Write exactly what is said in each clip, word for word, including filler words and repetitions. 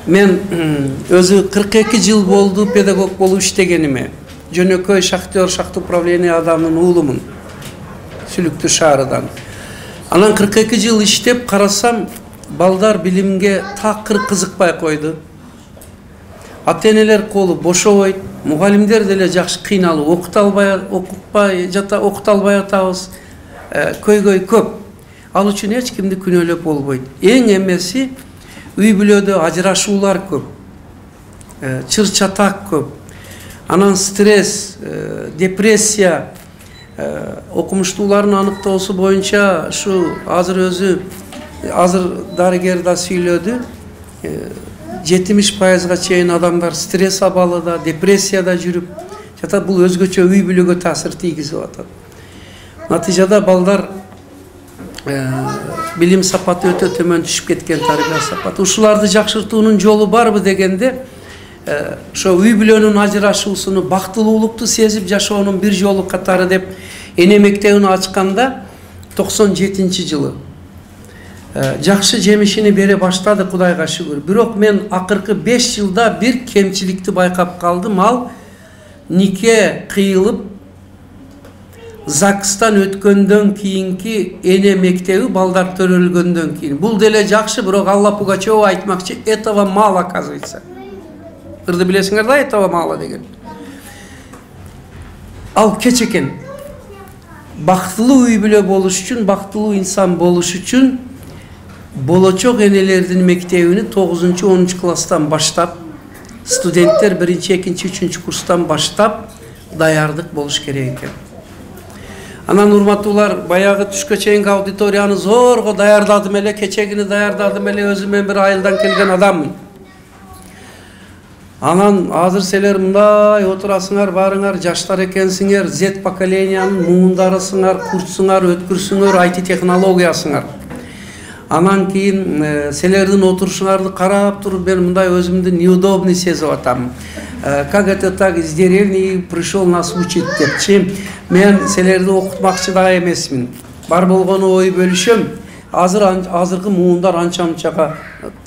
мен өзү кырк эки жыл болду педагог болуп иштегениме. Жөнөкөй шахтер шахта управление адамынын уулумун. Сүлүктүү шаарынан. Анан кырк эки жыл иштеп карасам, балдар билимге такыр кызыкпай койду. Ата-энелер колу бошобойт, мугалимдер деле жакшы кыйналып окута албай, окутпай жата окута албай атабыз. Көйгөй көп. Ал үчүн эч кимди күнөөлөп болбойт. Эң эмеси үй бүлөдө ажырашуулар көп. Чыр-чатак көп. Анан стресс, депрессия, окумуштуулардын аныктоосу боюнча ушу азыр өзү азыр дарыгер да сүйлөдү. жетимиш пайызга чейин адамдар стресс абалыда, депрессияда жүрүп, жата бул өзгөчө үй бүлөгө таасир тийгизип атат. Натыйжада балдар билим сапаты өтө төмөн түшүп кеткен, тарбия сапаты. Ушуларды жакшыртуунун жолу барбы дегенде, ошо үй бүлөнүн ажырашуусуну, бактылуулукту сезип жашоонун бир жолу катары деп эне мектебин ачканда токсон жетинчи жылы жакшы жемишини бере баштады, Кудайга шүгүр. Бирок мен акыркы беш жылда бир кемчиликти байкап калдым. Ал нике кыйылып ЗАГСтан өткөндөн кийинки эне мектеби балдар төрөлгөндөн кийин. Бул деле жакшы, бирок Алла Пугачева айтмакчы, этого мало, оказывается. Ырды билесиңер да, этого мало деген. Ал кеч экен. Бактылуу үй бүлө болуш үчүн, бактылуу инсан болуш үчүн болочок энелердин мектебини тогузунчу онунчу класстан баштап, студенттер биринчи, экинчи, үчүнчү курстан баштап даярдык болуш керек экен. Анан урматтуулар, баягы түшкө чейинки аудиторияны зорго даярдадым эле, кечегини даярдадым эле, өзүм мен бир айылдан келген адаммын. Анан азыр силер мындай отурасыңар, барыңар, жаштар экенсиңер, Z поколениянын муундарысыңар, курсуңар, өткүрсүңөр, ай ти технологиясыңар. Анан кийин силердин отурушуңарды карап туруп мен мындай өзүмдү неудобный сезип атам. Как это так, из деревни пришел нас учить депчи. Мен силерди окутмакчы да эмесмин. Бар болгону ой бөлүшөм. Азыр азыркы муундар анча-мынчага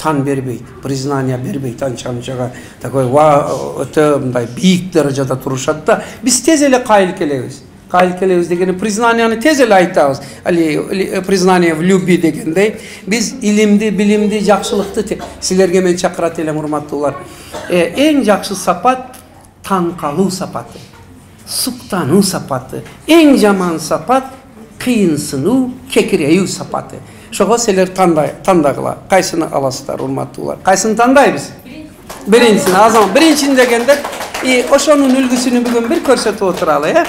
тан бербейт, признание бербейт анча-мынчага. Такой ва өтө мындай бийик даражада турушат да. Биз тез эле кайыл келебиз. Кайыл келебиз дегени признанияны тез эле айтабыз. Али признание в любви дегендей. Биз илимди, билимди, жакшылыкты силерге мен чакырат элем, урматтуулар. Эң жакшы сапат тан калуу сапаты. Суктануу сапаты. Эң жаман сапат кыйынсынуу, кекиреүү сапаты. Ошого силер тандай, тандагыла. Кайсыны аласыздар, урматтуулар? Кайсыны тандайбыз? Биринчисин, азам биринчини дегенде, и ошонун үлгүсүнү бүгүн бир көрсөтүп отуралы, э?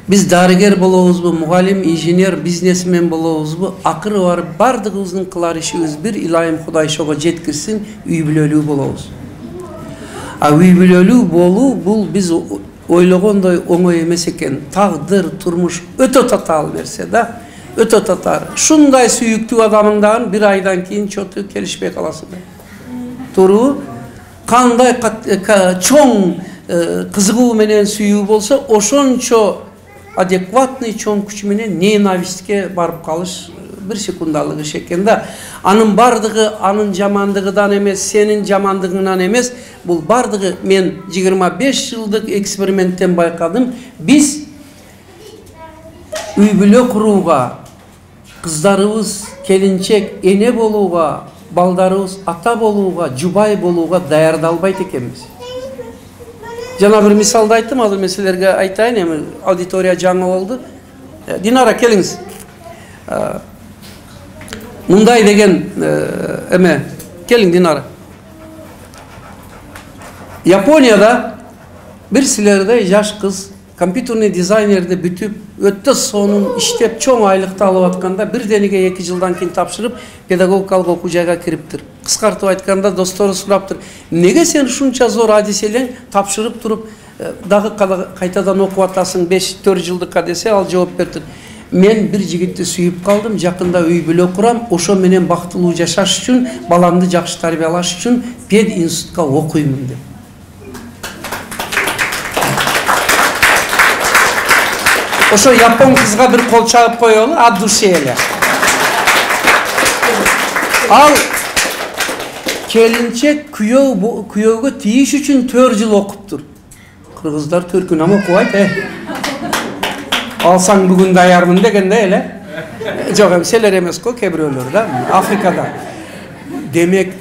Биз дарыгер болобузбу, мугалим, инженер, бизнесмен болобузбу, акыры бар бардыгыбыздын кылар ишибиз бир, Илайым Кудай ошого жеткирсин, үй бүлөлүү болобуз. А үй бүлөлүү болуу бул биз ойлогондой оңой эмес экен. Тагдыр, турмуш өтө татаал нерсе да. Өтө татар. Шундай сүйүктүү адамыңдан бир айдан кийин чоту келишпей каласың. Туруу кандай чоң кызыгуу менен сүйүү болсо, ошончо адекватный чоң күч менен ненавистке барып калыш бир секундалык иш экен да. Анын бардыгы анын жамандыгынан эмес, сенин жамандыгыңан эмес. Бул бардыгы мен жыйырма беш жылдык эксперименттен байкадым. Биз үй бүлө курууга, кыздарыбыз келинчек эне болууга, балдарыбыз ата болууга, жубай болууга даярдалбайт экенбиз. Жана бир мисалды айттым, азыр мен силерге айтайын, эми аудитория жаңы болду. Динара, келиңиз. Мындай деген эме, келиң Динара. Японияда бир силердей жаш кыз компьютерный дизайнерди бүтүп, өтө сонун иштеп, чоң айлыкты алып атканда бирдениге эки жылдан кийин тапшырып, педагогикалык окуу жайга кириптир. Кыскартып айтканда достору сураптыр: "Неге сен ушунча зор адиселең тапшырып туруп, дагы кайтадан окуп атасың беш төрт жылдыкка?" десе, ал жооп берди: "Мен бир жигитти сүйүп калдым, жакында үй бүлө курам, ошо менен бактылуу жашаш үчүн, баламды жакшы тарбиялаш үчүн пед институтка окуймун" деп. Ошо япон кызга бир кол чабып коелу, от души эле. Ал келинчек күйөө күйөөгө тийиш үчүн төрт жыл окуптур. Кыргыздар төркүн ам окубайт, э. Алсаң бүгүн даярмын дегенде эле. Жок, эми силер эмес го, кээ бирөөлөр да, Африкада. Демек,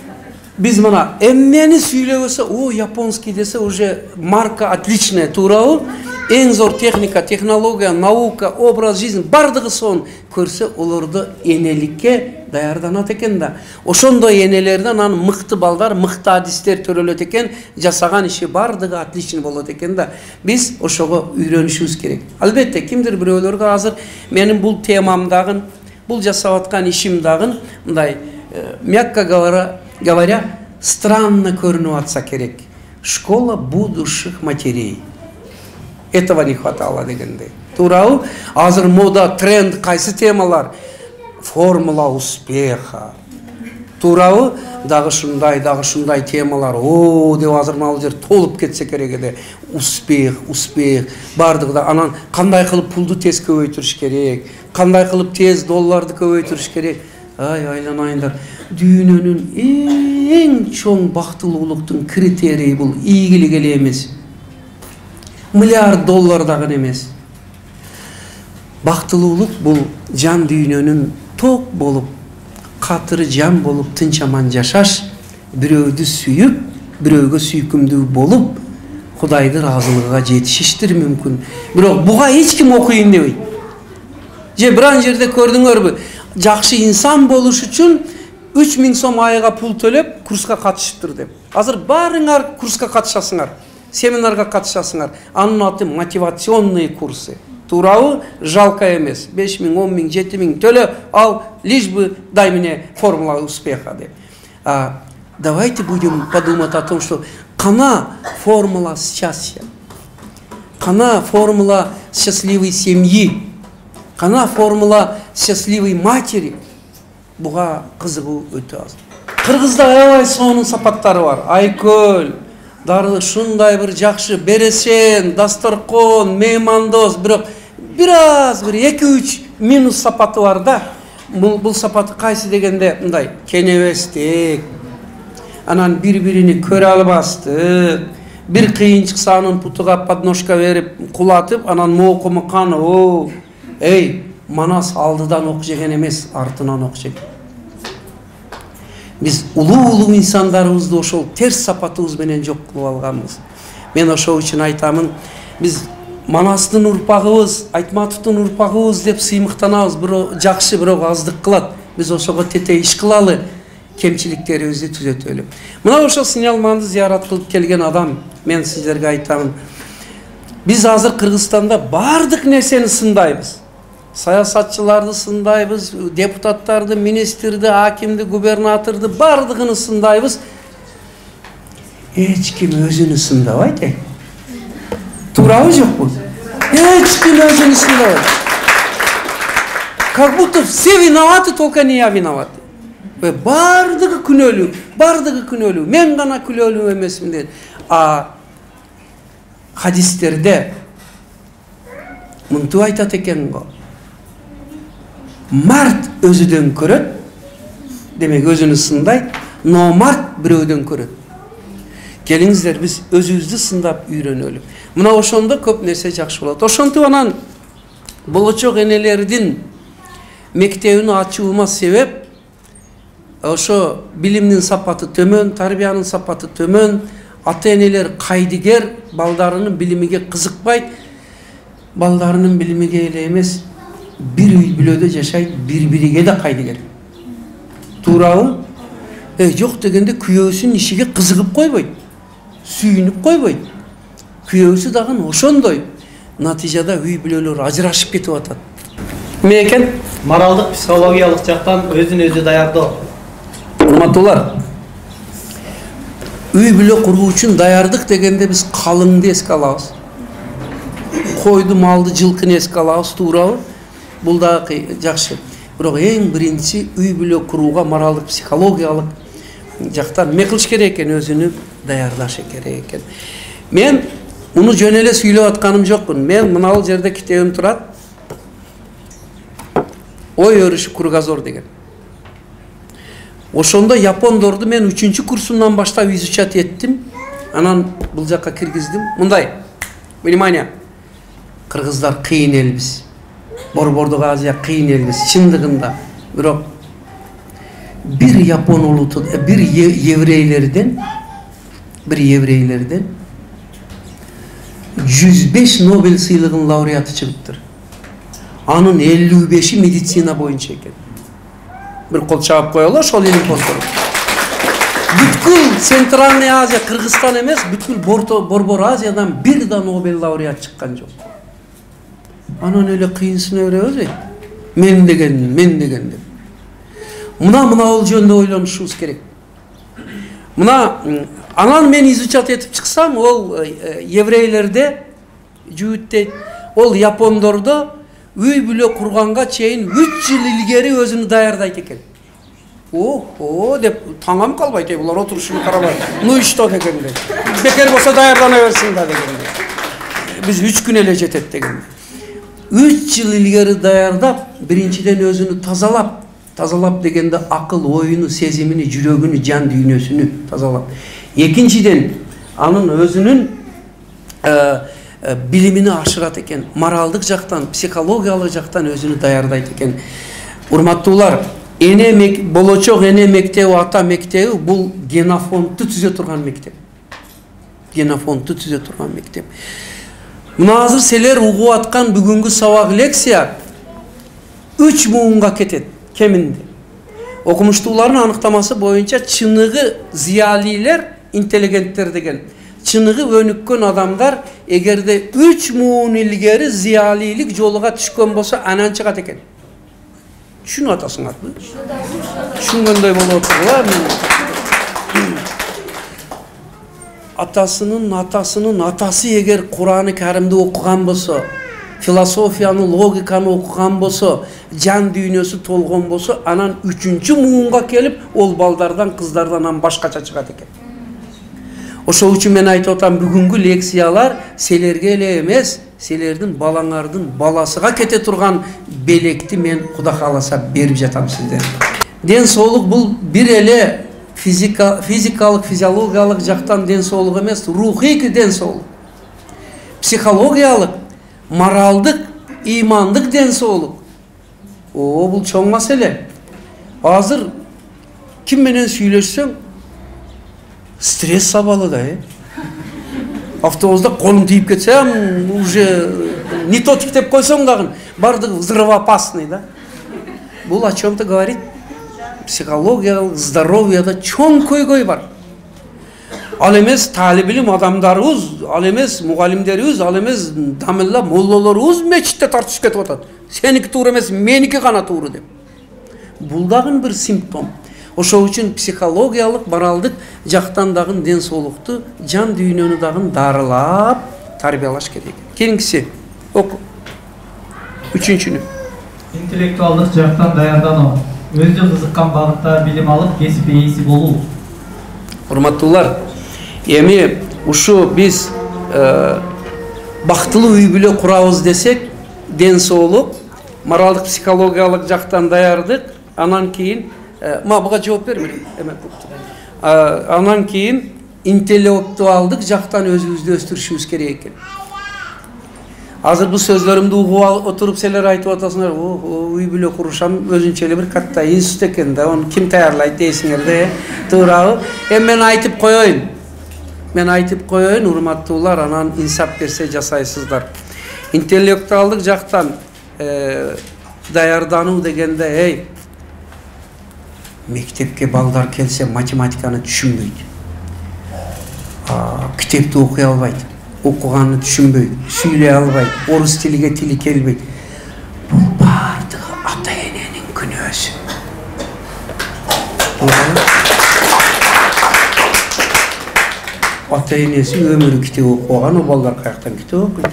биз мына эмнени сүйлөбөсө, о, японский десе уже марка отличная, туурабы? Эң зор техника, технология, наука, образ жизни бардыгы сонун көрсө, олорду энеликке даярданат экен да. Ошондой энелерден анан мыкты балдар, мыкты адистер төрөлөт экен, жасаган иши бардыгы отлично болот экен да. Биз ошого үйрөнүшүбүз керек. Албетте, кимдир бирөөлөргө азыр менин бул темам дагы, бул жасап аткан ишим дагы мындай, мягко говоря, говоря, странно көрүнүп атса керек. Школа будущих матерей. Этого не хватало дегенде. Туурабы? Азыр мода, тренд кайсы темалар? Формула успеха. Туурабы? Дагы шундай, дагы шундай темалар. О, деп азыр мал жер толуп кетсе керек эде. Успех, успех. Бардыгы да анан кандай кылып пулду тез көбөйтүрүш керек? Кандай кылып тез долларды көбөйтүрүш керек? Ай, айланайындар. Дүйнөнүн эң чоң бактылуулуктун критерийи бул ийгилик эле эмес. Миллиард доллар дагы эмес. Бактылуулук бул жан дүйнөнүн ток болуп, катыры жан болуп, тынч аман жашаш, бирөөдү сүйүп, бирөөгө сүйкүмдүү болуп, Кудайды ыраазылыгына жетишиштир мүмкүн. Бирок буга эч ким окуйын дебейт. Же биран жерде көрдүңөрбү? Жакшы инсан болуш үчүн үч миң сом айга пул төлөп курска катышыптыр деп. Азыр баарыңар курска катышасыңар, семинарга катышасыңар. Анын аты мотивационные курсы. Туурабы? Жалко эмес. беш миң, он миң, жети миң төлө, ал лишь бы дай мне формула успеха деп. А давайте будем подумать о том, что кана формула счастья, кана формула счастливой семьи, кана формула счастливой матери. Буга кызыгуу өтө аз. Кыргызда аябай сонун сапаттары бар. Айкөл, дары шундай бир жакшы берешен, дасторкон, меймандос, бирок бир аз бир эки үч минус сапаты бар да. Бул бул сапаты кайсы дегенде мындай кенебестик, анан бири-бирини көрө албастык, бир кыйын чыкса анын путуга подножка берип кулатып, анан моокумукан, о, эй, Манас алдыдан ок жеген эмес, артынан ок жеген. Биз улуу-улуу инсандарыбызды ошол терс сапатыбыз менен жок кылып алганбыз. Мен ошол үчүн айтамын, биз Манастын урпагыбыз, Айтматовдун урпагыбыз деп сыймыктанабыз, бирок жакшы, бирок аздык кылат. Биз ошого тете иш кылалы, кемчиликтерибизди түзөтөлү. Мына ошол Синялманды зыярат кылып келген адам, мен сиздерге айтамын. Биз азыр Кыргызстанда бардык нерсени сындайбыз. Саясатчыларды сындайбыз, депутаттарды, министрди, акимди, губернаторду бардыгын сындайбыз. Эч ким өзүнү сындабайт. Туурабы жокпу? Эч ким өзүнү сындабайт. Как будто все виноваты, только не я виноват. Бардыгы күнөөлүү, бардыгы күнөөлүү. Мен гана күнөөлүү эмесмин дейт. А хадистерде мынтип айтат экен го. Март өзүдөн көрөт, демек өзүнү сындайт, но март бирөөдөн көрөт. Келиңиздер, биз өзүбүздү сындап үйрөнөлү. Мына ошондо көп нерсе жакшы болот. Ошентип анан болочок энелердин мектебин ачуума себеп ошо билимдин сапаты төмөн, тарбиянын сапаты төмөн, ата-энелер кайдыгер, балдарынын билимиге кызыкпайт, балдарынын билимиге эле эмес, бир үй бүлөдө жашайт, бири-бириге да кайдыгер. Туурабы? Э, жок дегенде күйөөсүнүн ишиге кызыгып койбойт, сүйүнүп койбойт. Күйөөсү дагы ошондой. Натыйжада үй бүлөлөр ажырашып кетип атат. Эмне экен? Моралдык, психологиялык жактан өзүн өзү даярдоо. Урматтуулар, үй бүлө куруу үчүн даярдык дегенде биз калыңды эске алабыз. Койду, малды, жылкыны эске алабыз, туурабы? Бул да жакшы. Бирок эң биринчи үй бүлө курууга моралдык, психологиялык жактан эмне кылыш керек экен, өзүнү даярдаш керек экен. Мен муну жөн эле сүйлөп атканым жокмун. Мен мына жерде китебим турат. Ой өрүшү кругозор деген. Ошондо япондорду мен үчүнчү курсумдан баштап изучать эттим. Анан бул жакка киргиздим. Мындай. Внимание. Кыргыздар кыйын элбиз. Борбордук Азия кыйын элбиз. Чындыгында. Бирок бир япон улуту, бир еврейлерден, бир еврейлерден жүз беш Нобель сыйлыгынын лауреаты чыгыптыр. Анын элүү беши медицина боюнча экен. Bir kol çağıp koyalım, ошол элин постуру. Бүткүл Центральный Азия, Кыргызстан эмес, бүткүл Борбор Азиядан бир да Нобель лауреат чыккан жок. Анан эле кыйынсына беребиз. Мен деген, мен деген деп. Мына мына ол жөнүндө ойлонушубуз керек. Мына анан мен изучать этип чыксам, ол еврейлерде жүүттейт, ол япондордо үй бүлө курганга чейин үч жыл илгери өзүнү даярдайт экен. О, деп таңам калбайт, булар отурушуну карабай. Ну и что дегенде. Бекер болсо даярдана берсин да дегенде. Биз үч күн эле жетет дегенде. үч жыл илгери даярдап, биринчиден өзүнү тазалап, тазалап дегенде акыл, оюну, сезимини, жүрөгүнү, жан дүйнөсүнү тазалап. Экинчиден анын өзүнүн билимини ашырат экен, моралдык жактан, психологиялык жактан өзүнү даярдайт экен. Урматтуулар, эне мек болочок эне мектеби, ата мектеби бул генофондду түзө турган мектеп. Генофондду түзө турган мектеп. Мына азыр силер угуп аткан бүгүнкү сабак лекция үч муунга кетет кеминде. Окумуштуулардын аныктамасы боюнча чыныгы зиялилер, интеллигенттер деген. Чыныгы өнүккөн адамдар эгерде үч муун илгери зиялилик жолуга түшкөн болсо анан чыгат экен. Түшүнүп атасыңарбы? Түшүнгөндөй болуп отургула. Атасынын атасынын атасы эгер Кур'аны Каримди окуган болсо, философияны, логиканы окуган болсо, жан дүйнөсү толгон болсо, анан үчүнчү муунга келип, ол балдардан, кыздардан башкача чыгат экен. Ошол үчүн мен айтып атам, бүгүнкү лекциялар силерге эле эмес, силердин балаңардын баласыга кете турган белекти мен Кудай кааласа берип жатам сиздерге. Ден соолук бул бир эле физикалык, физиологиялык жактан ден соолук эмес, рухий ден соолук. Психологиялык, моралдык, ыймандык ден соолук. О, бул чоң маселе. Азыр ким менен сүйлөшсөң, стресс сабалы да, э? Автобуста колуң тийип кетсе, уже не то тиктеп койсоң дагы, бардыгы взрывоопасный, да? Бул о чем-то говорит. Психологиялык здоровьяда чоң көйгөй бар. Ал эмес талип илим адамдарыбыз, ал эмес мугалимдерибиз, ал эмес дамилла моллолорубуз мечитте тартышып кетип атат. Сеники туура эмес, меники гана туура деп. Бул дагы бир симптом. Ошол үчүн психологиялык, моралдык жактан дагы ден соолукту, жан дүйнөнү дагы дарылап тарбиялаш керек. Кийинкиси оку. Үчүнчүнү. Интеллектуалдык жактан даярдануу. Өзү кызыккан багытта билим алып, кесип ээси болуу. Урматтуулар, эми ушу биз бактылуу үй бүлө курабыз десек, ден соолук, моралдык, психологиялык жактан даярдык, анан кийин ма буга жооп бермейм. Анан кийин интеллектуалдык жактан өзүбүздү өстүрүшүбүз керек экен. Азыр бул сөздөрүмдү угуп отуруп силер айтып атасыңар, үй бүлө курушам өзүнчө эле бир катта институт экен да, аны ким даярлайт дейсиңер да, туурабы? Эми мен айтып коеюн. Мен айтып коеюн, урматтуулар, анан инсап берсе жасайсыздар. Интеллектуалдык жактан даярдануу дегенде, эй, мектепке балдар келсе математиканы түшүнбөйт. Китепти окуй албайт. Окуганды түшүнбөйт, сүйлөй албайт, орус тилиге тили келбейт. Бул бардыгы ата эненин күнөөсү. Ата энеси өмүрү китеп окуган, о балдар каяктан китеп окуйт?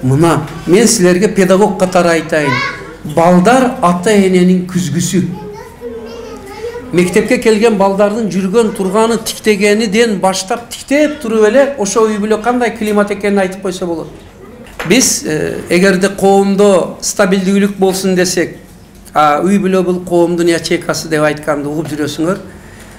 Мына, мен силерге педагог катары айтайын. Балдар ата эненин күзгүсү. Мектепке келген балдардын жүргөн турганы, тиктегениден баштап тиктеп туруп эле ошо үй бүлө кандай климат экенин айтып койсо болот. Биз эгерде коомдо стабилдүүлүк болсун десек, үй бүлө бул коомдун ячейкасы деп айтканды угуп жүрөсүңөр.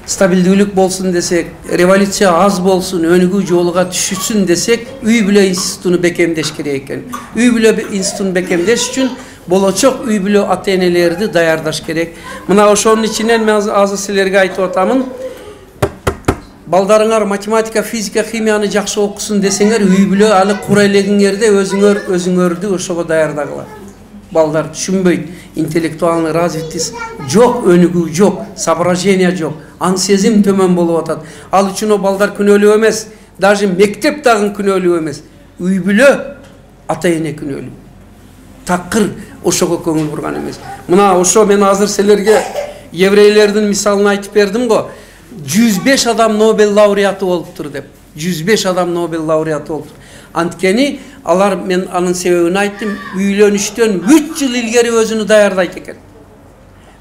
Стабилдүүлүк болсун десек, революция аз болсун, өнүгүү жолуга түшүшсүн десек, үй бүлө институтуну бекемдеш керек экен. Үй бүлө институтун бекемдеш үчүн болочок үй бүлө ата-энелерди даярдаш керек. Мына ошонун ичинен мен азыр силерге айтып атамын. Балдарыңар математика, физика, химияны жакшы окусун десеңер, үй бүлө алы кура элегиңерде өзүңөр өзүңөрдү ошого даярдагыла. Балдар түшүнбөйт, интеллектуальный развитость жок, өнүгүү жок, соображение жок, аң сезим төмөн болуп атат. Ал үчүн балдар күнөөлүү эмес, даже мектеп дагы күнөөлүү эмес. Үй бүлө ата-эне күнөөлүү. Такыр ошого көңүл бурган эмес. Мына ошо мен азыр силерге еврейлердин мисалын айтып бердим го. жүз беш адам Нобель лауреаты болуптур деп. жүз беш адам Нобель лауреаты болуптур. Анткени алар, мен анын себебин айттым, үйлөнүштөн үч жыл илгери өзүнү даярдайт экен.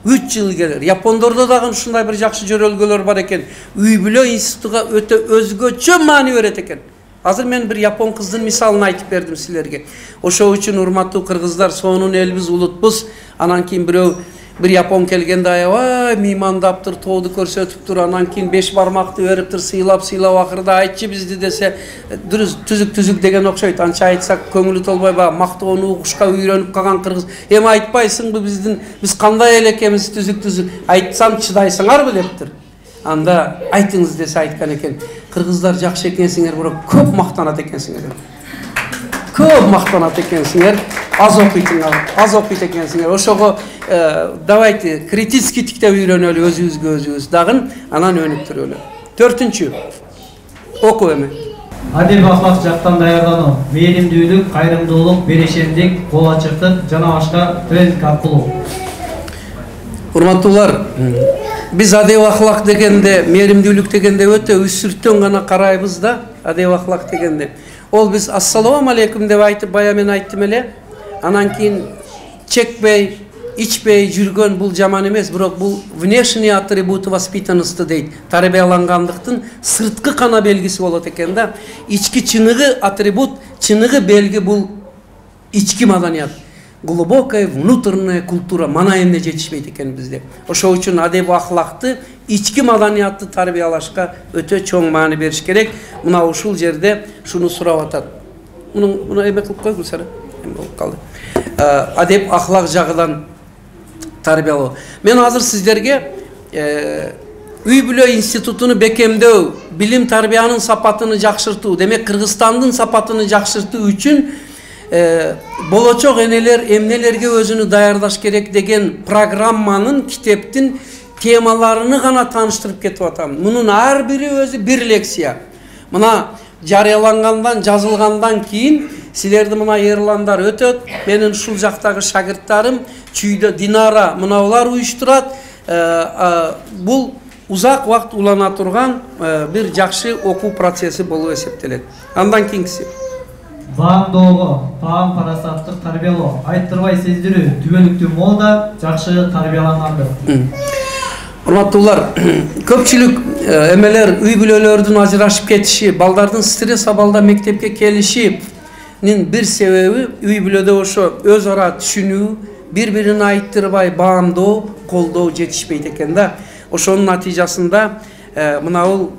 үч жыл илгери. Япондордо дагы ушундай бир жакшы жөрөлгөлөр бар экен. Үй бүлө институтуга өтө өзгөчө маани берет экен. Азыр мен бир япон кыздын мисалын айтып бердим силерге. Ошол үчүн урматтуу кыргыздар, сонун элбиз, улутбуз. Анан кийин бирөө бир япон келгенде аябай мыймандаптыр, тооду көрсөтүптүр, анан кийин беш бармакты бериптир, сыйлап сыйлап акырда айтчы бизди десе, түзүк түзүк деген окшойт. Анча айтсак көңүлү толбойбу, мактоону угушка үйрөнүп калган кыргыз. Эми айтпайсыңбы биздин биз кандай эле экенбиз, түзүк түзүк. Айтсам чыдайсыңарбы дептир. Анда айтыңыз десе айткан экен. Кыргыздар жакшы экенсиңер, бирок көп мактанат экенсиңер. Көп мактанат экенсиңер, аз окуйтуңар, аз окуйт экенсиңер. Ошого давайте критический тиктеп үйрөнөлү өзүбүзгө өзүбүз, дагы анан өнүктүрөлү. Төртүнчү, окуу эми. Адил аклак жактан даярдануу, мээримдүүлүк, кайрымдуулук, берешендик, кол ачыктык жана башка тренинг аркылуу. Урматтуулар, биз адил аклак дегенде, мээримдүүлүк дегенде өтө үсүрттөн гана карайбыз да, адил аклак дегенде. Ол биз ассалому алейкум деп айтып, бая мен айттым эле. Анан кийин чекпей, ичпей жүргөн бул жаман эмес, бирок бул внешний атрибут воспитанности дейт. Тарбиялангандыктын сырткы кана белгиси болот экен да. Ички чыныгы атрибут, чыныгы белги бул ички маданият. Глубокая внутренняя культура, мана эмне жетишпейт экен бизде. Ошол үчүн адеп аклакты, ички маданиятты тарбиялашка өтө чоң маани бериш керек. Мына ушул жерде шуну сурап атат. Муну муну эме кылып кой Гүлсара. Эме болуп калды. Адеп аклак жагынан тарбиялоо. Мен азыр сиздерге үй бүлө институтуну бекемдөө, билим тарбиянын сапатын жакшыртуу, демек Кыргызстандын сапатын жакшыртуу үчүн болочок энелер эмнелерге өзүнү даярдаш керек деген программанын, китептин темаларыны гана тааныштырып кетип атам. Мунун ар бири өзү бир лекция. Мына жарыялангандан, жазылгандан кийин силерди мына Ерландар өтөт. Менин ушул жактагы шагырттарым, Чүйдө Динара мынаулар уюштурат. Бул узак убакыт улана турган бир жакшы окуу процесси болуп эсептелет. Андан кийинкиси баамдоого, баам парасаттык тарбиялоо, айттырбай сездирүү, түбөлүктүү мода, жакшы тарбиялангандыр. Урматтуулар, көпчүлүк эмелер үй бүлөлөрдүн ажырашып кетиши, балдардын стресс абалда мектепке келишинин бир себеби үй бүлөдө ошо өз ара түшүнүү, бири-бирин айттырбай баамдоо, колдоо жетишпейт экен да. Ошонун натыйжасында мына бул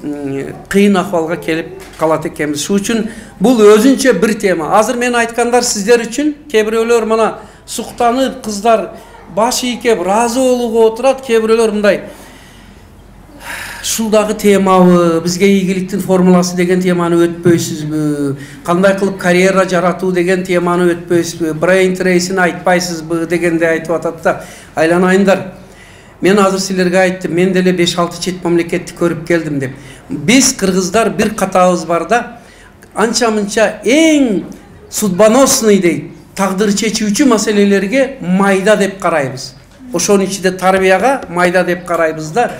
кыйын акыбалга келип калат экенбиз. Шу үчүн бул өзүнчө бир тема. Азыр мен айткандар сиздер үчүн, кээ бирөөлөр мына суктанып, кыздар баш ийкеп ыраазы болууга отурат, кээ бирөөлөр мындай ушул дагы темабы, бизге ийгиликтин формуласы деген теманы өтпөйсүзбү, кандай кылып карьера жаратуу деген теманы өтпөйсүзбү, brain trace-ин айтпайсызбы дегенде айтып атат да. Айланайындар, мен азыр силерге айттым, мен деле беш алты чет мамлекетти көрүп келдим деп. Биз кыргыздар бир катабыз бар да, анча-мынча эң судьбоносный дейт, тагдыр чечүүчү маселелерге майда деп карайбыз. Ошонун ичинде тарбияга майда деп карайбыз да.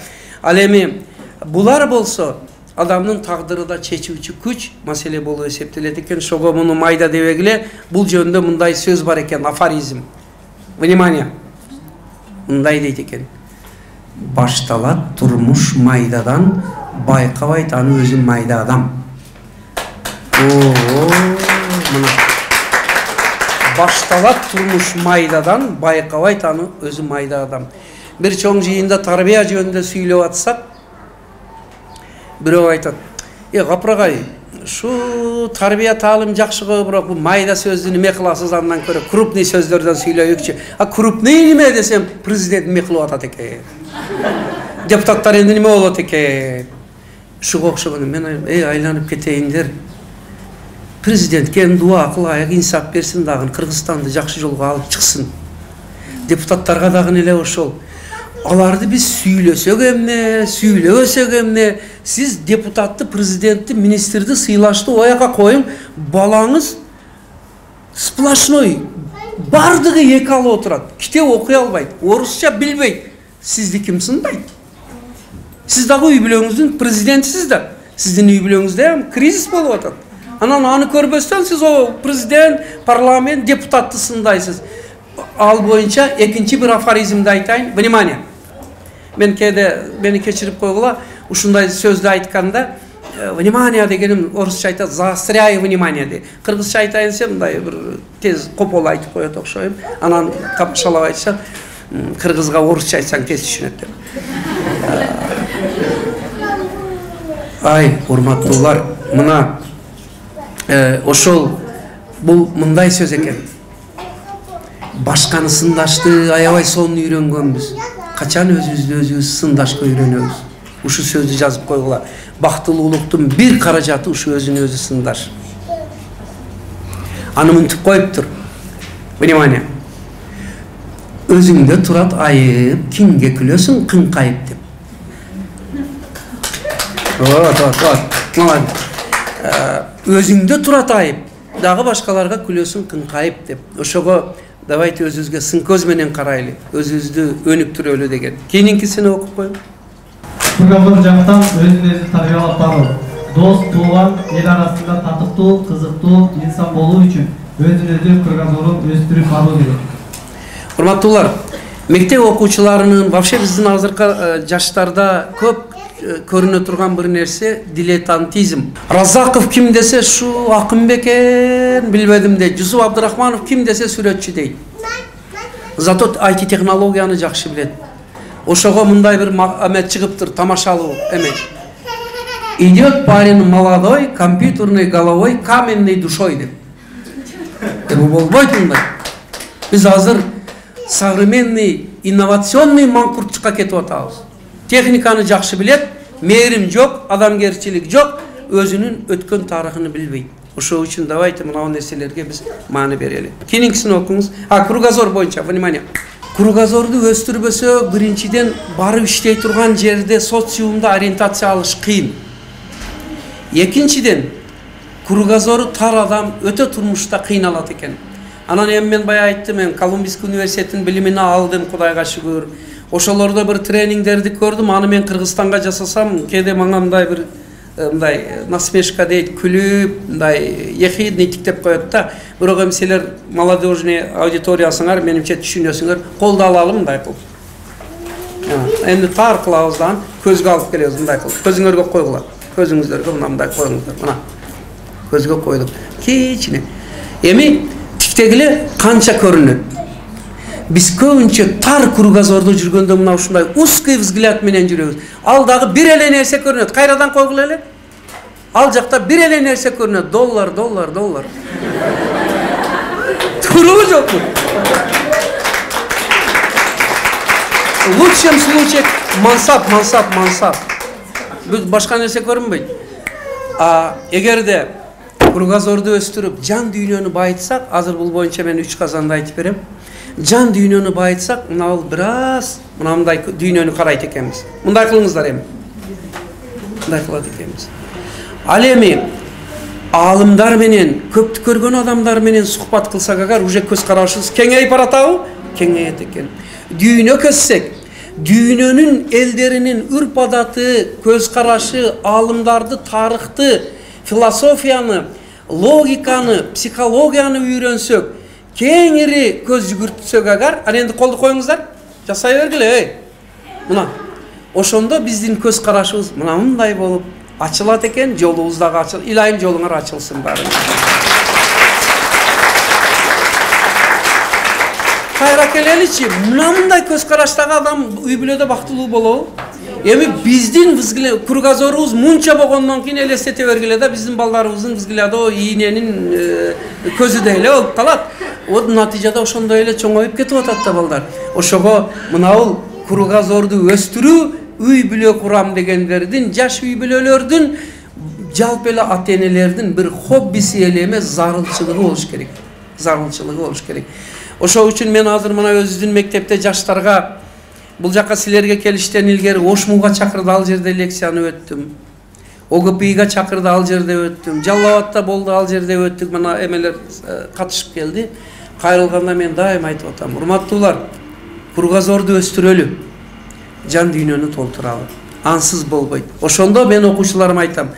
Ал эми булар болсо адамдын тагдыры да чечүүчү күч маселе болуп эсептелет экен. Ошого муну майда дебегиле. Бул жөнүндө мындай сөз бар экен, афоризм. Внимание. Мындай дейт экен. Башталат турмуш майдадан, байкабайт аны өзү майда адам. башталат турмуш майдадан, байкабайт аны өзү майда адам. Бир чоң жыйында тарбия жөнүндө сүйлөп атсак, бирөө айтат: "Э, Капырагай, şu tarbiya talim жақшығы, бірақ бұл майда сөзді неме қыласыз, андан көрі крупный сөздерден сөйлейікші. А крупный неме десем, президент неме қылып атат екен. Депутаттар енді неме болот екен. Шуға оқшығыны мен ей айланып кетейіндер. Президентке дуа қылайық, инсап берсін дағын, Қырғызстанды жақшы жолға алып шықсын. Депутаттарға дағын еле ошол. Аларды біз сүйлөсөк эмне, сүйлөбөсөк эмне, сиз депутатты, президентти, министрди сыйлашты ояка коюң, балаңыз сплошной бардыгы эки алып отурат. Китеп окуй албайт, орусча билбейт. Сизди ким сындайт? Сиз дагы үй бүлөңүздүн президентисиз да. Сиздин үй бүлөңүздө кризис болуп атат. Анан аны көрбөстөн сиз о президент, парламент, депутатты сындайсыз. Ал боюнча экинчи бир афоризмди айтайын. Внимание. Мен кээде мени кечирип койгула, ушундай сөздү айтканда, внимание дегеним орусча айтат, заостряй внимание дейт. Кыргызча айтайын десем, мындай бир тез копол айтып коет окшойм. Анан капшалап айтышат, кыргызга орусча айтсаң тез түшүнөт деп. Ай, урматтуулар, мына ошол бул мындай сөз экен. Башканы сындашты аябай сонун үйрөнгөнбүз. Качан өзүбүздү өзүбүз сындашка үйрөнөбүз. Ушу сөздү жазып койгула. Бактылуулуктун бир каражаты ушу өзүн өзү сындаш. Аны мынтип коюптур. Внимание. Өзүңдө турат айып, кимге күлөсүң кыңкайып деп. Вот, вот, вот. Молодец. Өзүңдө турат айып, дагы башкаларга күлөсүң кыңкайып деп. Ошого давайте өзүбүзгө сын көз менен карайлы, өзүбүздү өнүктүрөлү деген. Кийинкисини окуп коюң. Кургазор жактан өзүн өзү тарбиялап баруу, дос, тууган, эл арасында татыктуу, кызыктуу инсан болуу үчүн өзүн өзү кургазорун өстүрүп баруу керек. Урматтуулар, мектеп окуучуларынын, вообще биздин азыркы жаштарда көп көрүнө турган бир нерсе дилетантизм. Разаков ким десе шу акын бекен, билбедим дейт. Жусуп Абдырахманов ким десе сүрөтчү дейт. Зато ай ти технологияны жакшы билет. Ошого мындай бир эмет чыгыптыр, тамашалуу эме. Идет парень молодой, компьютерной головой, каменной душой деп. Бул болбойт мындай. Биз азыр современный, инновационный маңкуртчукка кетип атабыз. Техниканы жакшы билет, мээрим жок, адамгерчилик жок, өзүнүн өткөн тарыхын билбейт. Ошол үчүн давайте мына нерселерге биз маани берели. Кийинкисин окуңуз. А, кругозор боюнча, внимание. Кругозорду өстүрбөсө, биринчиден барып иштей турган жерде социумда ориентация алыш кыйын. Экинчиден, кругозору тар адам өтө турмушта кыйналат экен. Анан эми мен бая айттым, мен Колумбийский университеттин билимин алдым, Кудайга шүгүр. Ошолордо бир тренингдерди көрдүм, аны мен Кыргызстанга жасасам, кээде мага мындай бир мындай насмешка дейт, күлүп, мындай ехидный тиктеп коет да. Бирок эми силер молодежный аудиториясыңар, менимче түшүнөсүңөр, колдо алалы мындай кылып. Эми тар кылабыздан көзгө алып келебиз мындай кылып. Көзүңөргө койгула. Көзүңүздөргө мындай коюңуздар. Мына. Көзгө койдук. Кичине. Эми тиктегиле канча көрүнөт? Биз көбүнчө тар кругозордо жүргөндө мына ушундай узкий взгляд менен жүрөбүз. Ал дагы бир эле нерсе көрүнөт. Кайрадан койгула эле. Ал жакта бир эле нерсе көрүнөт. Доллар, доллар, доллар. Туурабы жокпу? В лучшем случае мансап, мансап, мансап. Бүт башка нерсе көрүнбөйт. А эгерде кругозорду өстүрүп, жан дүйнөнү байытсак, азыр бул боюнча мен үч казанды айтып берем. Жан дүйнөнү байытсак, мына ал бир аз мындай дүйнөнү карайт экенбиз. Мындай кылыңыздар эми. Мындай кылат экенбиз. Ал эми аалымдар менен, көптү көргөн адамдар менен сухбат кылсак, агар уже көз карашыбыз кеңейип баратабы? Кеңейет экен. Дүйнө көзсек, дүйнөнүн элдеринин үрп адаты, көз карашы, аалымдарды, тарыхты, философияны, логиканы, психологияны үйрөнсөк, кеңири көз жүгүртсөк агар, аны энди колду коюңуздар, жасай бергиле, эй. Мына, ошондо биздин көз карашыбыз мына мындай болуп ачылат экен, жолубуз дагы ачыл. Илайым жолуңар ачылсын баары. келеличи, мындай көз караштагы адам үй бүлөдө бактылуу болобу? Эми биздин кругозорубуз мынча болгондон кийин элестете бергиле да биздин балдарыбыздын взгляды ийненин көзүдөй эле болуп калат. Вот натыйжада ошондой эле чоңоюп кетип атат да балдар. Ошого мынабул кругозорду өстүрүү, үй бүлө курам дегендердин, жаш үй бүлөлөрдүн, жалпы эле ата-энелердин бир хоббиси эле эмес, зарылчылыгы болуш керек. Зарылчылыгы болуш керек. Ошол үчүн мен азыр мына өзүбүздүн мектепте жаштарга бул жака силерге келиштен илгери Ошмуга чакырды, ал жерде лекцияны өттүм. О Г П И'га чакырды, ал жерде өттүм. Жалал Абадта болду, ал жерде өттүк. Мына эмелер катышып келди. Кайрылганда мен дайым айтып атам, урматтуулар, кругозорду өстүрөлү, жан дүйнөнү толтуралы. Ансыз болбойт. Ошондо мен окуучуларыма айтам,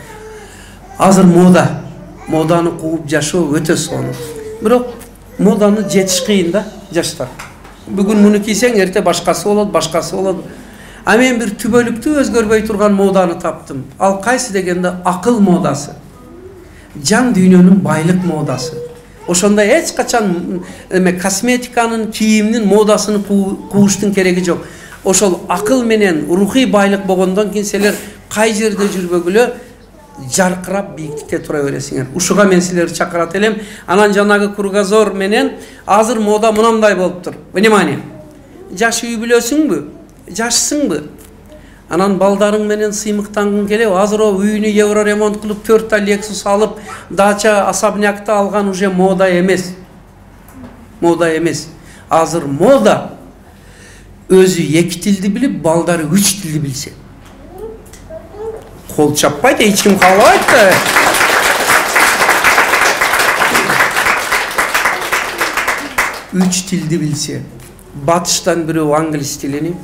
азыр мода, моданы кууп жашоо өтө сонун. Бирок моданы жетиш кыйын да, жаштар. Бүгүн муну кийсең, эрте башкасы болот, башкасы болот. А мен бир түбөлүктүү өзгөрбөй турган моданы таптым. Ал кайсы дегенде акыл модасы. Жан дүйнөнүн байлык модасы. Ошондой эч качан эме косметиканын, кийимдин модасын кууштун кереги жок. Ошол акыл менен рухий байлык болгондон кийин силер кай жерде жүрбөгүлө жаркырап бийиктикте тура бересиңер. Ушуга мен силерди чакырат элем. Анан жанагы кругозор менен азыр мода мынандай болуптур. Внимание. Жаш үй бүлөсүңбү? Жашсыңбы? Анан балдарың менен сыймыктангың келеби? Азыр о үйүнү евро ремонт кылып, төрт та Lexus алып, дача, особнякты алган уже мода эмес. Мода эмес. Азыр мода өзү эки тилди билип, балдары үч тилди билсе. Кол чаппайт, эч ким каалабайт да. Үч тилди билсе. Батыштан бирөө англис тилини,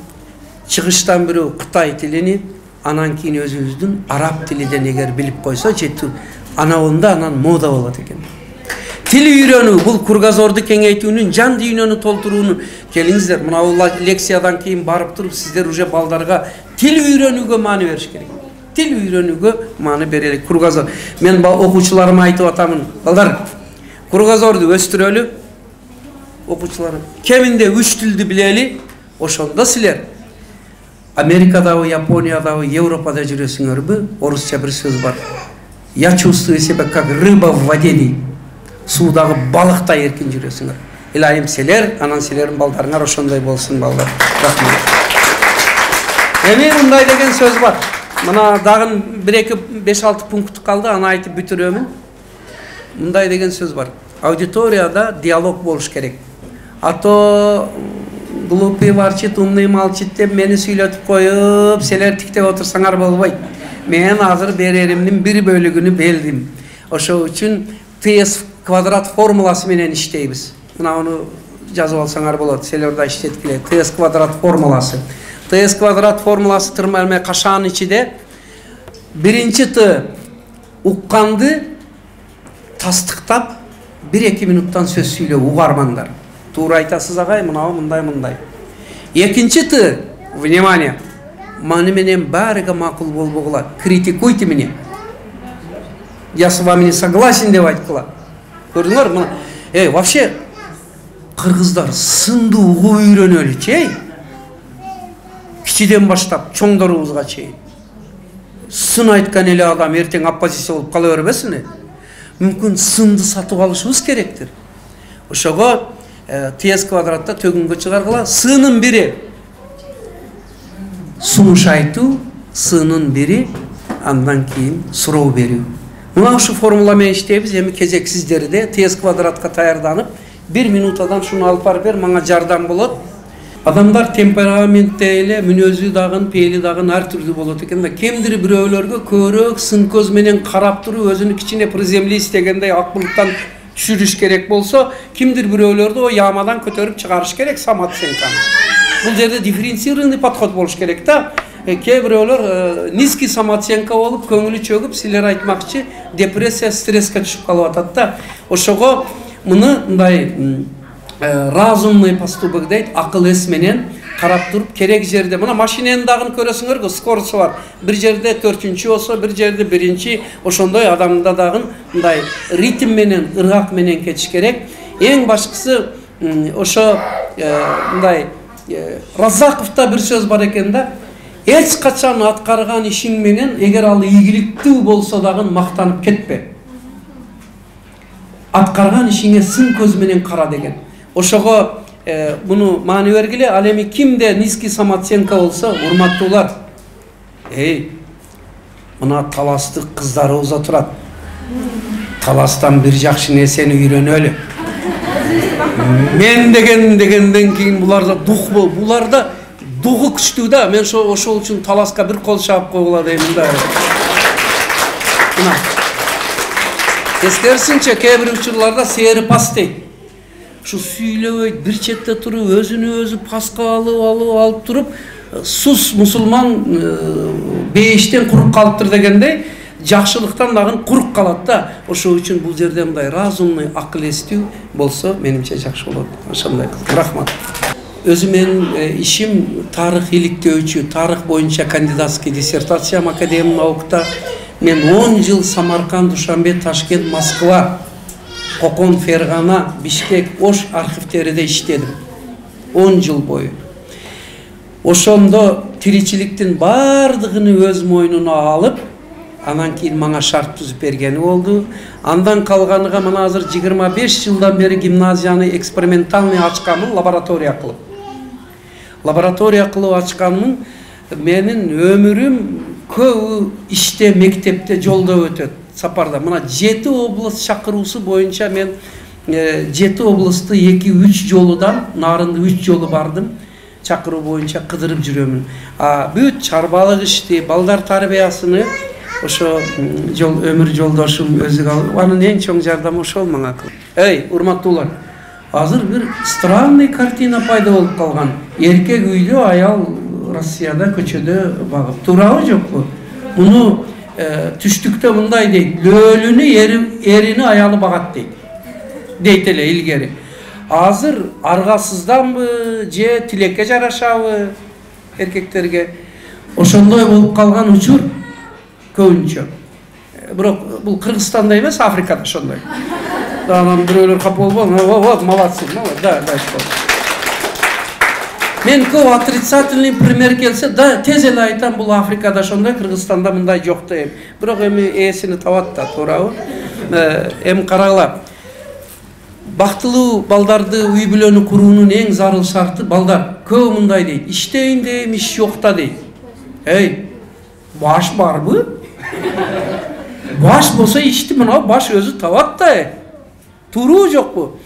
чыгыштан бирөө Кытай тилини, анан кийин өзүбүздүн араб тилиден эгер билип койсо жетүү. Анабында анан мода болот экен. Тил үйрөнүү бул кругозорду кеңейтүүнүн, жан дүйнөнү толтуруунун. Келиңиздер, мына бул лекциядан кийин барып туруп сиздер уже балдарга тил үйрөнүүгө маани бериш керек. Тил үйрөнүүгө маани берелик. Кругозор. Мен окуучуларыма айтып атамын, балдар, кругозорду өстүрөлү. Окуучуларым, кеминде үч тилди билели, ошондо силер Америкадабы, Япониядабы, Европада жүрөсүңөрбү? Орусча бир сөз бар. Я чувствую себя как рыба в воде дейт. Суудагы балыктай эркин жүрөсүңөр. Илайым силер, анан силердин балдарыңар ошондой болсун, балдар. Рахмат. Эми мындай деген сөз бар. Мына дагы бир эки беш алты пункт калды, аны айтып бүтүрөмүн. Мындай деген сөз бар. Аудиторияда диалог болуш керек. А то глупый ворчит, умный молчит деп мени сүйлөтүп коюп, силер тиктеп отурсаңар болбойт. Мен азыр береримдин бир бөлүгүнү белдим. Ошол үчүн Т С квадрат формуласы менен иштейбиз. Мына аны жазып алсаңар болот, силер да иштеткиле. Т С квадрат формуласы. Т С квадрат формуласы тырмалме кашаанын ичинде биринчи Т укканды тастыктап бир эки минуттан сөз сүйлөө, угармаңдар. Туура айтасыз агай, мынау мындай мындай. Экинчи Т, внимание, мани менен баарыга макул болбогула, критикуйте меня. Я с вами не согласен деп айткыла. Көрдүңөр, мына, эй, вообще кыргыздар сынды угуп үйрөнөлүчү, эй. Кичиден баштап чоңдорубузга чейин. Сын айткан эле адам эртең оппозиция болуп кала бербесин. Мүмкүн сынды сатып алышыбыз керектир. Ошого Т С квадратта төгүнгө чыгаргыла. Сынын бири сунуш айтуу, сынын бири андан кийин суроо берүү. Мына ушу формула менен иштейбиз. Эми кезек сиздерде Т С квадратка даярданып, бир минутадан шуну алып барып бер, мага жардам болот. Адамдар темпераментте эле, мүнөзү дагы, пейли дагы ар түрдүү болот экен да. Кемдир бирөөлөргө көрөк сын көз менен карап туруп, өзүнүн кичине приземлист дегендей акылыктан түшүрүш керек болсо, кимдир бирөөлөрдү о ямадан көтөрүп чыгарыш керек самооценканы. Бул жерде дифференцированный подход болуш керек да. Кээ бирөөлөр низкий самооценка болуп, көңүлү чөгүп, силер айтмакчы, депрессия, стресске түшүп калып атат да. Ошого муну мындай разумный поступок дейт, акыл эс менен карап туруп, керек жерде, мына машинени дагы көрөсүңөр го, скоросу бар. Бир жерде төртүнчү болсо, бир жерде биринчи, ошондой адамда дагы мындай ритм менен, ыргак менен кетиш керек. Эң башкысы ошо мындай Раззаковда бир сөз бар экен да, эч качан аткарган ишиң менен эгер ал ийгиликтүү болсо дагы мактанып кетпе. Аткарган ишиңе сын көз менен кара деген. Ошого буну маани бергиле. Ал эми кимде низкий самооценка болсо, урматтуулар, эй, мына таластык кыздарыбыз отурат. Таластан бир жакшы нерсени үйрөнөлү. Мен деген дегенден кийин буларда дух бол, буларда духу күчтүү да. Мен ошол үчүн таласка бир кол чаап койгула деймин да. Мына эскерсинче кээ бир учурларда сээри пас дейт. Ушу сүйлөбөйт, бир четте туруп, өзүнү өзү паска алып алып алып туруп, сус мусулман бейиштен курук калыптыр дегендей, жакшылыктан дагы курук калат да. Ошол үчүн бул жерде мындай разумный, акыл эстүү болсо, менимче жакшы болот. Ошондой. Рахмат. Өзү менин ишим тарых иликтөөчү, тарых боюнча кандидатский диссертациям академия наукта. Мен он жыл Самарканд, Душанбе, Ташкент, Москва, Кокон, Фергана, Бишкек, Ош архивтериде иштедим. он жыл бою. Ошондо тиричиликтин бардыгын өз мойнуна алып, анан кийин мага шарт түзүп бергени болду. Андан калганыга мына азыр жыйырма беш жылдан бери гимназияны экспериментальный ачканмын, лаборатория кылып. Лаборатория кылып ачканмын. Менин өмүрүм көбү иште, мектепте, жолдо өтөт, сапарда. Мына жети область чакыруусу боюнча мен жети областты эки үч жолудан, нарынды үч жолу бардым. Чакыруу боюнча кыдырып жүрөмүн. А бүт чарбалык ишти, балдар тарбиясыны ошо жол өмүр жолдошум өзү алып, анын эң чоң жардамы ошол мага кылды. Эй, урматтуулар, азыр бир странный картина пайда болуп калган. Эркек үйдө, аял Россияда көчөдө багып. Туурабы жокпу? Муну түштүктө мындай дейт, лөлүнү эрини аялы багат дейт. Дейт эле илгери. Азыр аргасызданбы же тилекке жарашабы эркектерге? Ошондой болуп калган учур көбүнчө. Бирок бул Кыргызстанда эмес, Африкада ошондой. Анан бирөөлөр капа болбойбу? Вот, молодцы, да, да, что. Мен көп отрицательный пример келсе, да, тез эле айтам, бул Африкада ошондой, Кыргызстанда мындай жок дейм. Бирок эми ээсини табат да, туурабы? Эми карагыла. Бактылуу балдарды үй бүлөнү куруунун эң зарыл шарты балдар. Көп мындай дейт, иштейин дейм, иш жок да дейт. Эй, баш барбы? Баш болсо ишти мына баш өзү табат да. Туруу жокпу?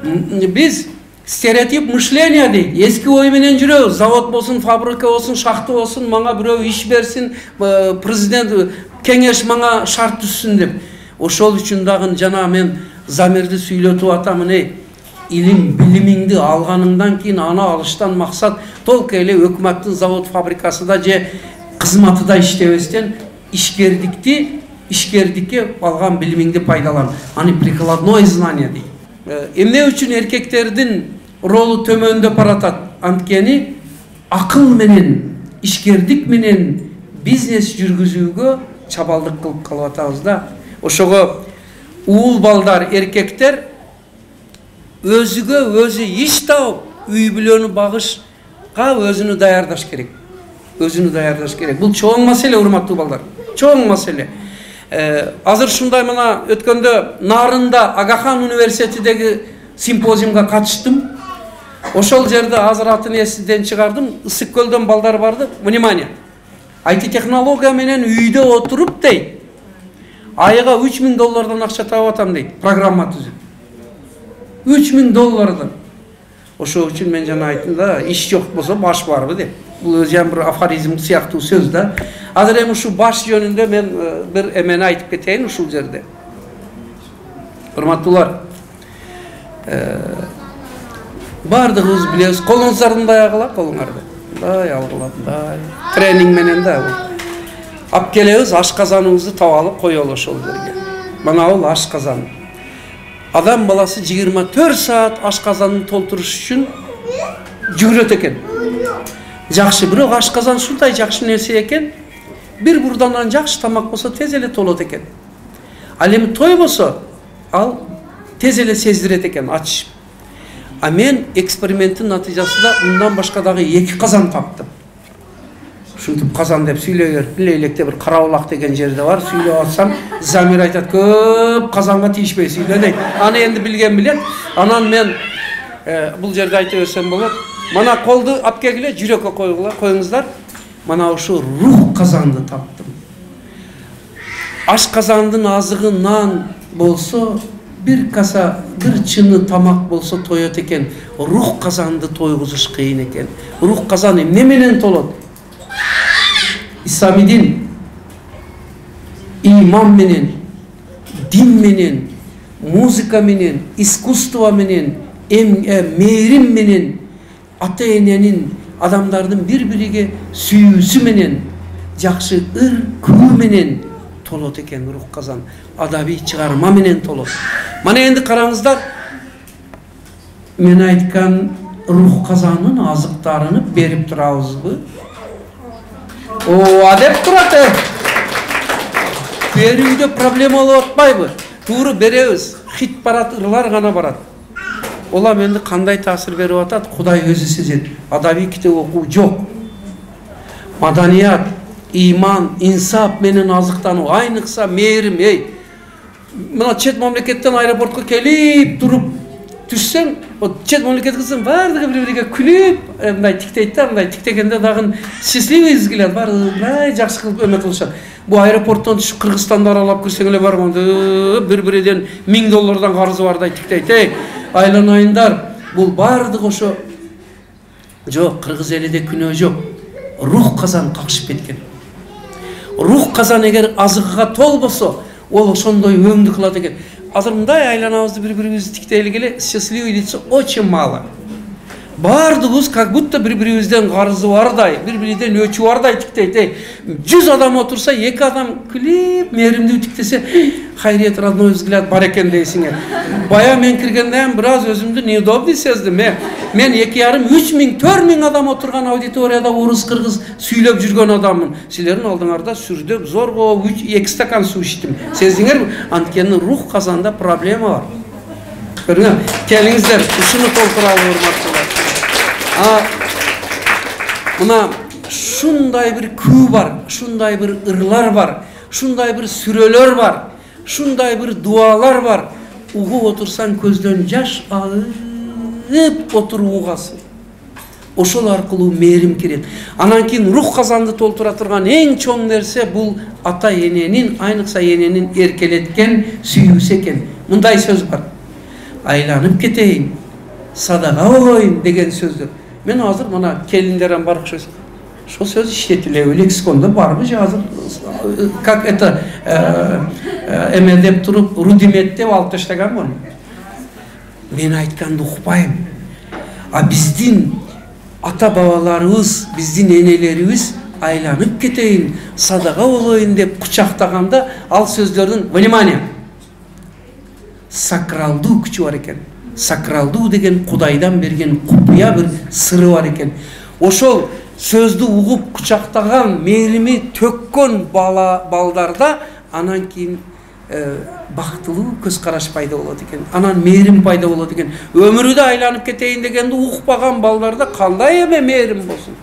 Биз стереотип мышления дейт. Эски ой менен жүрөбүз. Завод болсун, фабрика болсун, шахта болсун, мага бирөө иш берсин, президент кеңеш мага шарт түзсүн деп. Ошол үчүн дагы жана мен замирди сүйлөтүп атамын, эй, илим, билимиңди алганыңдан кийин аны алыштан максат толку эле өкмөттүн завод фабрикасында же кызматыда иштебестен ишкердикти, ишкердикке алган билимиңди пайдалан. Аны прикладное знание дейт. Эмне үчүн эркектердин ролу төмөндөп баратат? Анткени акыл менен, ишкердик менен бизнес жүргүзүүгө чабалдык кылып калып атабыз да. Ошого уул балдар, эркектер өзүгө өзү иш таап, үй бүлөнү багышка өзүнү даярдаш керек. Өзүнү даярдаш керек. Бул чоң маселе, урматтуу балдар. Чоң маселе. Азыр ушундай мына өткөндө Нарында Агахан университетидеги симпозиумга катыштым. Ошол жерде азыр атын эсиден чыгардым. Ысык көлдөн балдар барды. Внимание. ай ти технология менен үйдө отуруп дейт. Айга үч миң доллардан акча таап атам дейт. Программа түзүп. үч миң доллардан. Ошол үчүн мен жана айттым да, иш жок болсо баш барбы деп. Бул өзү бир афоризм сыяктуу сөз да. Азыр эми ушу баш жөнүндө мен бир эмени айтып кетейин ушул жерде. Урматтуулар, бардыгыбыз билебиз, колуңузду мындай агыла, колуңарды. Мындай алгыла, мындай. Тренинг менен да. Ап келебиз, ашказаныңызды таап алып коелу ошол жерге. Мына бул ашказан. Адам баласы жыйырма төрт саат ашказанын толтуруш үчүн жүгүрөт экен. Жакшы, бирок ашказан ушундай жакшы нерсе экен. Бир бурдандан жакшы тамак болсо тез эле толот экен. Ал эми той болсо, ал тез эле сездирет экен, ач. А мен эксперименттин натыйжасында мындан башка дагы эки казан таптым. Ушинтип казан деп сүйлөй берип, Лейлекте бир Карабулак деген жерде бар, сүйлөп атсам, Замир айтат, көп казанга тийишпей сүйлө дейт. Аны энди билген билет. Анан мен бул жерде айтып берсем болот. Мана колду алып келгиле, жүрөккө койгула, коюңуздар. Мана ушу рух казанды таптым. Аш казандын азыгы нан болсо, бир каса, бир чыны тамак болсо тоет экен. Рух казанды тойгузуш кыйын экен. Рух казан эмне менен толот? Ислами дин, иман менен, дин менен, музыка менен, искусство менен, мээрим менен, ата эненин, адамдардын бири-бириге сүйүүсү менен, жакшы ыр күбө менен толот экен рух казан. Адабий чыгарма менен толот. Мана энди караңыздар, мен айткан рух казанын азыктарын берип турабызбы? О, адеп турат. Берүүдө проблема болуп атпайбы? Тууру беребиз. Хит барат, ырлар гана барат. Ола менде кандай таасир берип атат? Кудай өзү сезет. Адабий китеп окуу жок. Маданият, иман, инсап менен азыктануу, айныкса мээрим, эй. Мына чет мамлекеттен аэропортко келип туруп түшсең, чет мамлекеттен баардыгы бири-бириге күлүп, мындай тиктейт да, мындай тиктегенде дагы счастливый изгилет, баардыгы жакшы кылып өмөт кылышат. Бу аэропорттон түшүп Кыргызстанды аралап кирсең эле барганда бири-бириден миң доллардан карызы бардай тиктейт. Эй, айланайындар, бул баардыгы ошо жок, кыргыз элиде күнөө жок. Рух казан какшып кеткен. Рух казан эгер азыгыга толбосо, ол ошондой өңдү кылат экен. Азыр мындай айланабызды бири-бирибизди тиктейли эле, счастливый лица очень мало. Баардыгыбыз как будто бири-бирибизден карызы бардай, бири-бириден өчү бардай тиктейт. жүз адам отурса, эки адам күлүп, мээримдүү тиктесе, хайриет, родной взгляд бар экен дейсиңер. Бая мен киргенден бир аз өзүмдү неудобный сездим. Мен эки жарым, үч миң, төрт миң адам отурган аудиторияда орус кыргыз сүйлөп жүргөн адаммын. Силердин алдыңарда сүрдөп зорго эки стакан суу ичтим. Сездиңерби? Анткени рух казанда проблема бар. Көрүңөр, келиңиздер, ушуну толтуралы урматтуулар. А мына шундай бир күү бар, шундай бир ырлар бар, шундай бир сүрөлөр бар, шундай бир дуалар бар. Угуп отурсаң көздөн жаш агып отуруп угасың. Ошол аркылуу мээрим кирет. Анан кийин рух казанды толтура турган эң чоң нерсе бул ата эненин, айныкса эненин эркелеткен сүйүүсү экен. Мындай сөз бар. Айланып кетейин, садага болоюн деген сөздөр. Мен азыр мына келиндерден бар окшойсуң. Ошол сөз иштетилеби, лексикондо барбы же азыр как это эме деп туруп рудимент деп алып таштаганбы? Мен айтканды укпайм. А биздин ата бабаларыбыз, биздин энелерибиз айланып кетейин, садага болоюн деп кучактаганда ал сөздөрдүн, внимание, сакралдуу күчү бар экен. Сакралдуу деген Кудайдан берген купуя бир сыры бар экен. Ошол сөздү угуп кучактаган, мээрими төккөн бала балдарда анан кийин бактылуу көз караш пайда болот экен. Анан мээрим пайда болот экен. Өмүрүдө айланып кетейин дегенди укпаган балдарда кандай эме мээрим болсун?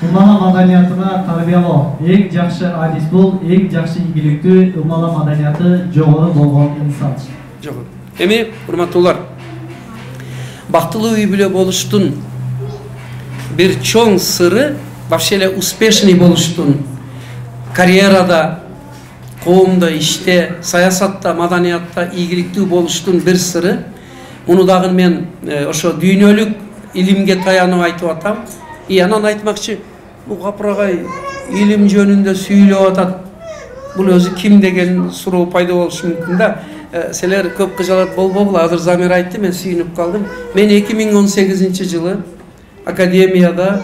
Умала маданиятына тарбиялоо эң жакшы адис бул, эң жакшы ийгиликтүү умала маданияты жогору болгон инсан. Жогору. Эми урматтуулар, бактылуу үй бүлө болуштун бир чоң сыры, вообще эле успешный болуштун, карьерада, коомдо, иште, саясатта, маданиятта ийгиликтүү болуштун бир сыры. Муну дагы мен ошо дүйнөлүк илимге таянып айтып атам. И анан айтмакчы, бу капырагай илим жөнүндө сүйлөп атат. Бул өзү ким деген суроо пайда болушу мүмкүн да. Силер көп кыжалат болбогула, азыр Замир айтты, мен сүйүнүп калдым. Мен эки миң он сегизинчи жылы академияда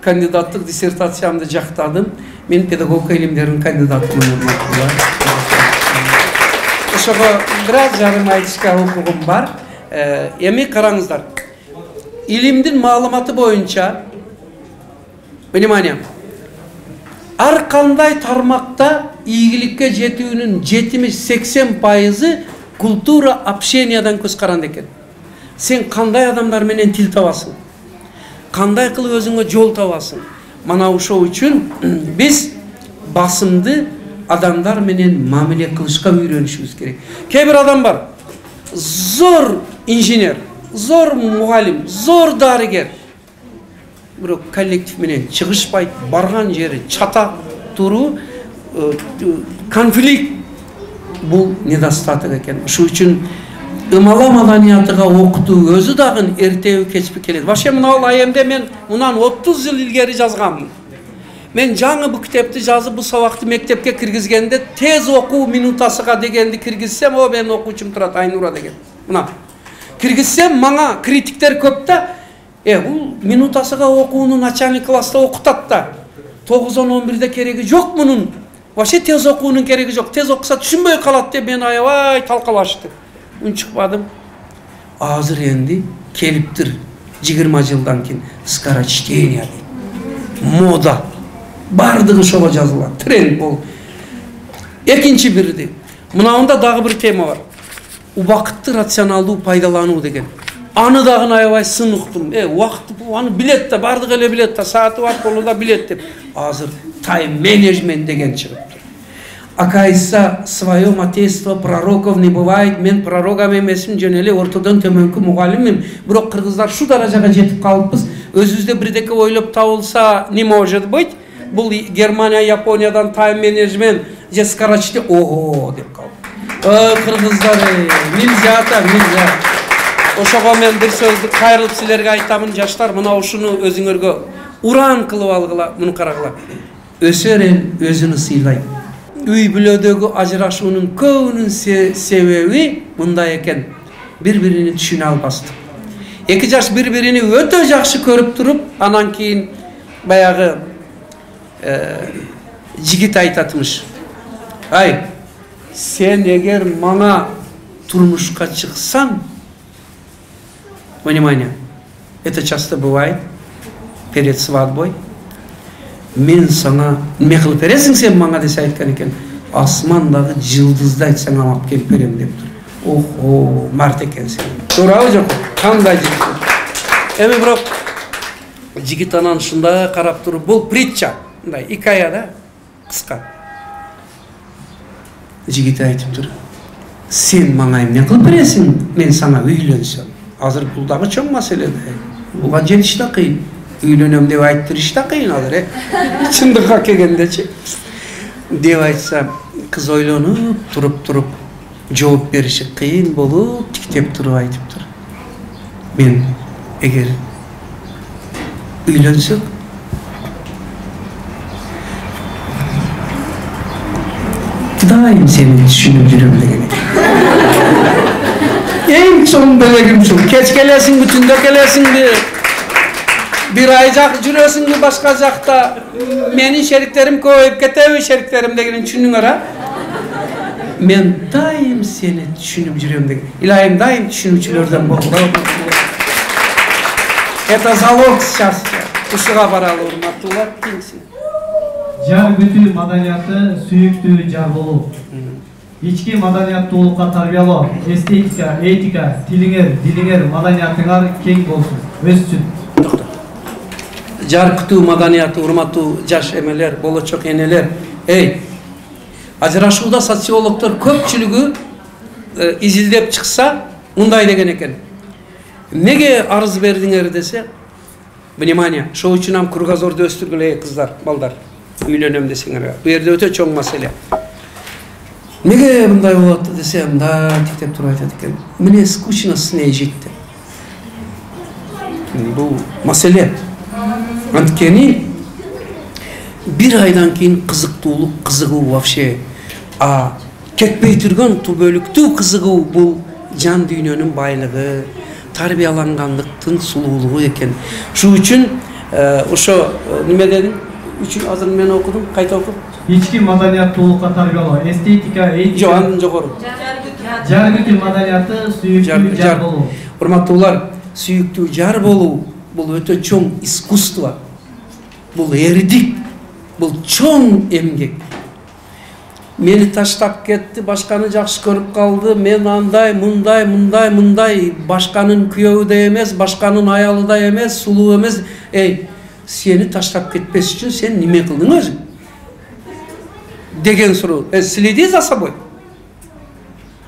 кандидаттык диссертациямды жактадым. Мен педагогика илимдеринин кандидатымын. Ошого бир аз жарым айтышка укугум бар. Эми караңыздар. Илимдин маалыматы боюнча, внимание, ар кандай тармакта ийгиликке жетүүнүн жетимиш сексен пайызы культура общениядан көз каранды экен. сен кандай адамдар менен тил табасың, кандай кылып өзүңө жол табасың. Мана ошол үчүн биз басымды адамдар менен мамиле кылышка үйрөнүшүбүз керек. Кээ бир адам бар, зор инженер, зор мугалим, зор дарыгер, бирок коллектив менен чыгышпайт, барган жери чата туруу, конфликт, бул недостаток экен. Ошол үчүн ымала маданиятыга окутуу өзү дагы эртеби кечпи келет. Вообще мына бул айемде мен мындан отуз жыл илгери жазганмын. Мен жаңы бу китепти жазып, бу сабакты мектепке киргизгенде тез окуу минутасыга дегенди киргизсем, о менин окуучум турат, Айнура деген. Мына киргизсем, мага критиктер көп да, э бул минутасыга окууну начальник класста окутат да, тогуздан он бирде кереги жок мунун. Вообще тез окуунун кереги жок. Тез окуса түшүнбөй калат деп мен аябай талкалашты. Унчукпадым. Азыр энди келиптир жыйырма жылдан кийин скорочтение дейт. Мода. Бардыгы ошого жазылат. Тренд бол. Экинчи бирди. Мынауында дагы бир тема бар. Убакытты рационалдуу пайдалануу деген. Аны дагы аябай сын уктум. Э, убакытты аны билет да, бардыгы эле билет да, сааты бар колунда билет деп. Азыр тайм менеджмент деген чыгыптыр. Акайса своем отечество пророков не бывает. Мен пророком эмесмин, жөн эле ортодон төмөнкү мугалиммин. Бирок кыргыздар шу даражага жетип калыппыз. Өзүбүздө бирдеке ойлоп табылса не может быть? Бул Германия, Япониядан тайм менеджмент же скорочте ого деп калды. Ой, кыргыздар, нельзя та, нельзя. Ошого мен бир сөздү кайрылып силерге айтамын, жаштар, мына ушуну өзүңөргө уран кылып алгыла, муну карагыла. Өсөр эл өзүнү сыйлайт. Үй бүлөдөгү ажырашуунун көбүнүн себеби мындай экен. Бири-бирини түшүнө албастык. Эки жаш бири-бирини өтө жакшы көрүп туруп, анан кийин баягы жигит айтатмыш. Ай, сен эгер мага турмушка чыксаң, внимание, это часто бывает перед свадьбой, мен сага неме кылып бересиң сен мага десе айткан экен, асмандагы жылдызды айтсаң алып келип берем дептир. Охо, март экенсиң. Туурабы жок? Кандай жигит? Эми бирок жигит анан ушундай карап туруп, бул притча, мындай икая да, кыска. Жигит айтыптыр. Сен мага эмне кылып бересиң? Мен сага үйлөнсөм. Азыр бул дагы чоң маселе. Буга жетиш да кыйын. Үйлөнөм деп айттырыш да кыйын азыр, э. Чындыкка келгендечи. Деп айтса, кыз ойлонуп, туруп-туруп жооп бериши кыйын болуп, тиктеп туруп айтыптыр. Мен эгер үйлөнсөк, дайым сени түшүнүп жүрөм деген. Эң чоң белегим ушул. Кеч келесиңби, түндө келесиңби, бир ай жак жүрөсүңбү башка жакта, менин шериктерим көбөйүп кетеби, шериктерим дегенин түшүнүңөр, а? Мен дайым сени түшүнүп жүрөм деген. Илайым дайым түшүнүүчүлөрдөн болду. Это залог счастья. Ушуга баралы, урматтуулар, кийинси. Жар бүтүү маданияты сүйүктүү жар болуу. Ички маданияттуулукка тарбиялоо, эстетика, этика, тилиңер, дилиңер, маданиятыңар кең болсун, өссүн. Жар күтүү маданияты, урматтуу жаш эмелер, болочок энелер. Эй, ажырашууда социологдор көпчүлүгү изилдеп чыкса, мындай деген экен. Неге арыз бердиңер десе, внимание, шоо үчүн ам кругозорду өстүргүлө, кыздар, балдар. Үйлөнөм десеңер, бу жерде өтө чоң маселе. Неге мындай болот десе, мындай тиктеп туруп айтат экен. Мне скучно с ней жить деп. Бул маселе. Анткени бир айдан кийин кызыктуулук, кызыгуу вообще, а кетпей турган түбөлүктүү кызыгуу бул жан дүйнөнүн байлыгы, тарбиялангандыктын сулуулугу экен. Шу үчүн ошо неме дедим? Үчүн азыр мен окудум, кайта окуп. Ички маданияттуулукка тарбиялоо, эстетика, этика. Жок, андан жогору. Жар бүтүү маданияты сүйүктүү жар болуу. Урматтуулар, сүйүктүү жар болуу бул өтө чоң искусство. Бул эрдик, бул чоң эмгек. мени таштап кетти, башканы жакшы көрүп калды, мен андай, мындай, мындай, мындай, башканын күйөөү да эмес, башканын аялы да эмес, сулуу эмес. Эй, сени таштап кетпес үчүн сен неме кылдың өзүң? Деген суроо. Э, следи за собой.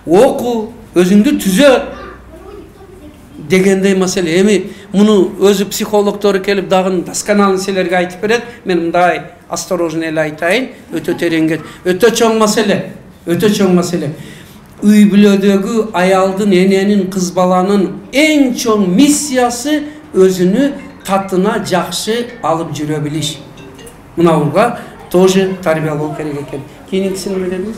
Оку, өзүңдү түзө дегендей маселе. Эми муну өзү психологдору келип дагы досконально силерге айтып берет. Мен мындай осторожно эле айтайын, өтө тереңге, өтө чоң маселе, өтө чоң маселе. Үй бүлөдөгү аялдын, эненин, кыз баланын эң чоң миссиясы өзүнү татына жакшы алып жүрө билиш. Мынауга тоже тарбиялоо керек экен. Кийинкисин неме дедиңиз?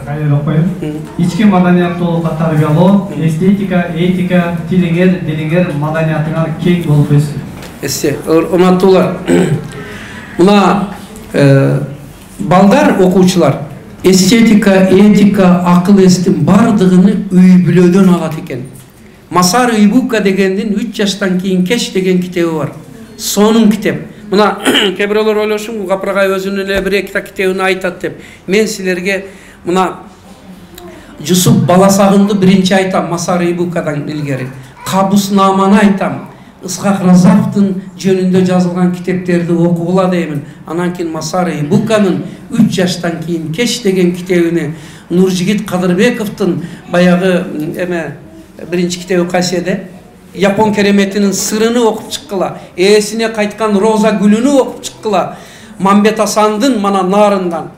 Кайра окуйм. Ички маданияттуулукка тарбиялоо, эстетика, этика, тилиңер, дилиңер маданиятыңар кең болуп өссүн. Эссе, урматтуулар. Мына балдар, окуучулар, эстетика, этика, акыл эстин бардыгыны үй бүлөдөн алат экен. Масаро Ибука дегендин үч жаштан кийин кеч деген китеби бар. Сонун китеп. Мына кээ бирөөлөр ойлошун, бул Капыргай өзүнүн эле бир эки китебин айтат деп. Мен силерге мына Жусуп Баласагынды биринчи айтам, Масаро Ибукадан илгери. Кабуснаманы айтам. Ысхак Разаковдун жөнүндө жазылган китептерди окугула деймин. Анан кийин Масаро Ибуканын үч жаштан кийин кеч деген китебини, Нуржигит Кадырбековдун баягы эме биринчи китеби кайсы Япон кереметинин сырыны окуп чыккыла, ээсине кайткан Роза гүлүнү окуп чыккыла, Мамбет Асандын мана нарындан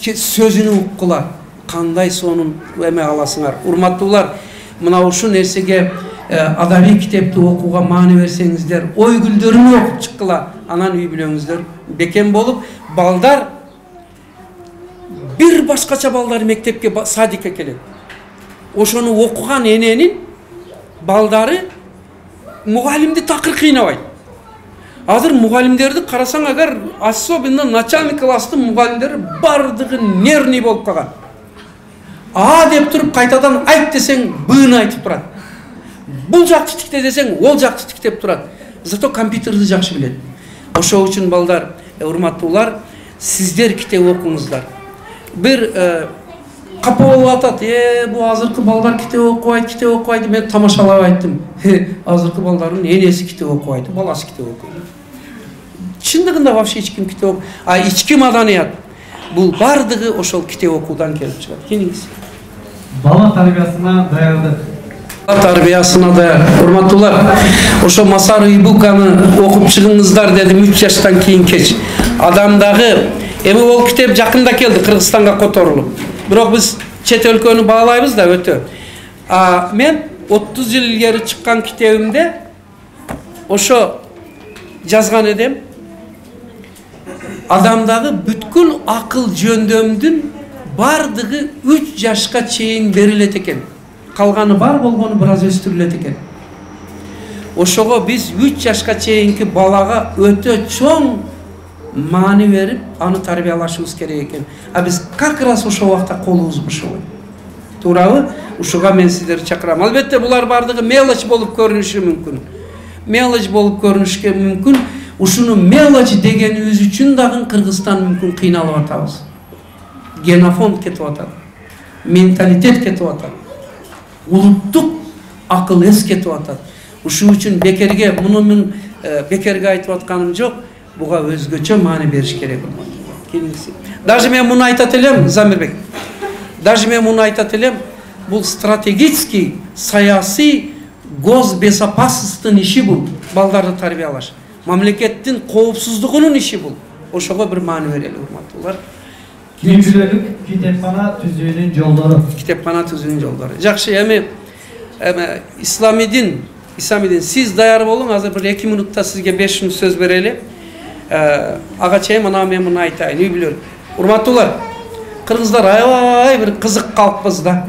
сөзүнү уккула. Кандай сонун эме аласыңар. Урматтуулар, мына ушул нерсеге адабий китепти окууга маани берсеңиздер, ой гүлдөрүнү окуп чыккыла, анан үй бүлөңүздөр бекем болуп, балдар бир башкача балдар мектепке, садикке келет. Ошону окуган эненин балдары мугалимди такыр кыйнабайт. Азыр мугалимдерди карасаң, агар особенно начальник класстын мугалимдери бардыгы нервный болуп калган. А деп туруп кайтадан айт десең, быны айтып турат. Бул жакты тикте десең, ол жакты тиктеп турат. Зато компьютерди жакшы билет. Ошол үчүн балдар, урматтуулар, сиздер китеп окуңуздар. Бир капа болуп атат, э, бул азыркы балдар китеп окубайт, китеп окубайт. Мен тамашалап айттым. Азыркы балдардын энеси китеп окубайт, баласы китеп окуйт. Чындыгында вообще эч ким китеп окуйт. А ички маданият бул бардыгы ошол китеп окуудан келип чыгат. Кийинкиси. Бала тарбиясына даярдык. Бала тарбиясына даяр. Урматтуулар, ошо Масаро Ибуканы окуп чыгыңыздар дедим үч жаштан кийин кеч. Адамдагы эми ол китеп жакында келди, Кыргызстанга которулуп. Бирок биз чет өлкөнү баалайбыз да өтө. А мен отуз жыл илгери чыккан китебимде ошо жазган эдим. Адамдагы бүткүл акыл жөндөмдүн бардыгы үч жашка чейин берилет экен. Калганы бар болгону бир аз өстүрүлөт экен. Ошого биз үч жашка чейинки балага өтө чоң маани берип, аны тарбиялашыбыз керек экен. А биз как раз ошол убакта колубуз бошобойт. Туурабы? Ушуга мен сиздерди чакырам. Албетте булар бардыгы мелочь болуп көрүнүшү мүмкүн. Мелочь болуп көрүнүшкө мүмкүн. Ушуну мелочь дегенибиз үчүн дагы Кыргызстан мүмкүн кыйналып атабыз. Генофонд кетип атат. Менталитет кетип атат. Улуттук акыл эс кетип атат. Ушул үчүн бекерге, муну мен бекерге айтып атканым жок. Буга өзгөчө маани бериш керек. Кийинкиси. Даже мен муну айтат элем, Замирбек. Даже мен муну айтат элем, бул стратегический, саясий, госбезопасностьтун иши бул, балдарды тарбиялаш. Мамлекеттин коопсуздугунун иши бул. Ошого бир маани берели, урматтуулар. Үй бүлөлүк китепкана түзүүнүн жолдору. Китепкана түзүүнүн жолдору. Жакшы, эми эми исламидин, исламидин сиз даяр болуң, азыр бир эки минутта сизге беш мүнөт сөз берели. Ага чейин мына мен муну айтайын, үй бүлөлүк. Урматтуулар, кыргыздар аябай бир кызык калкпыз да.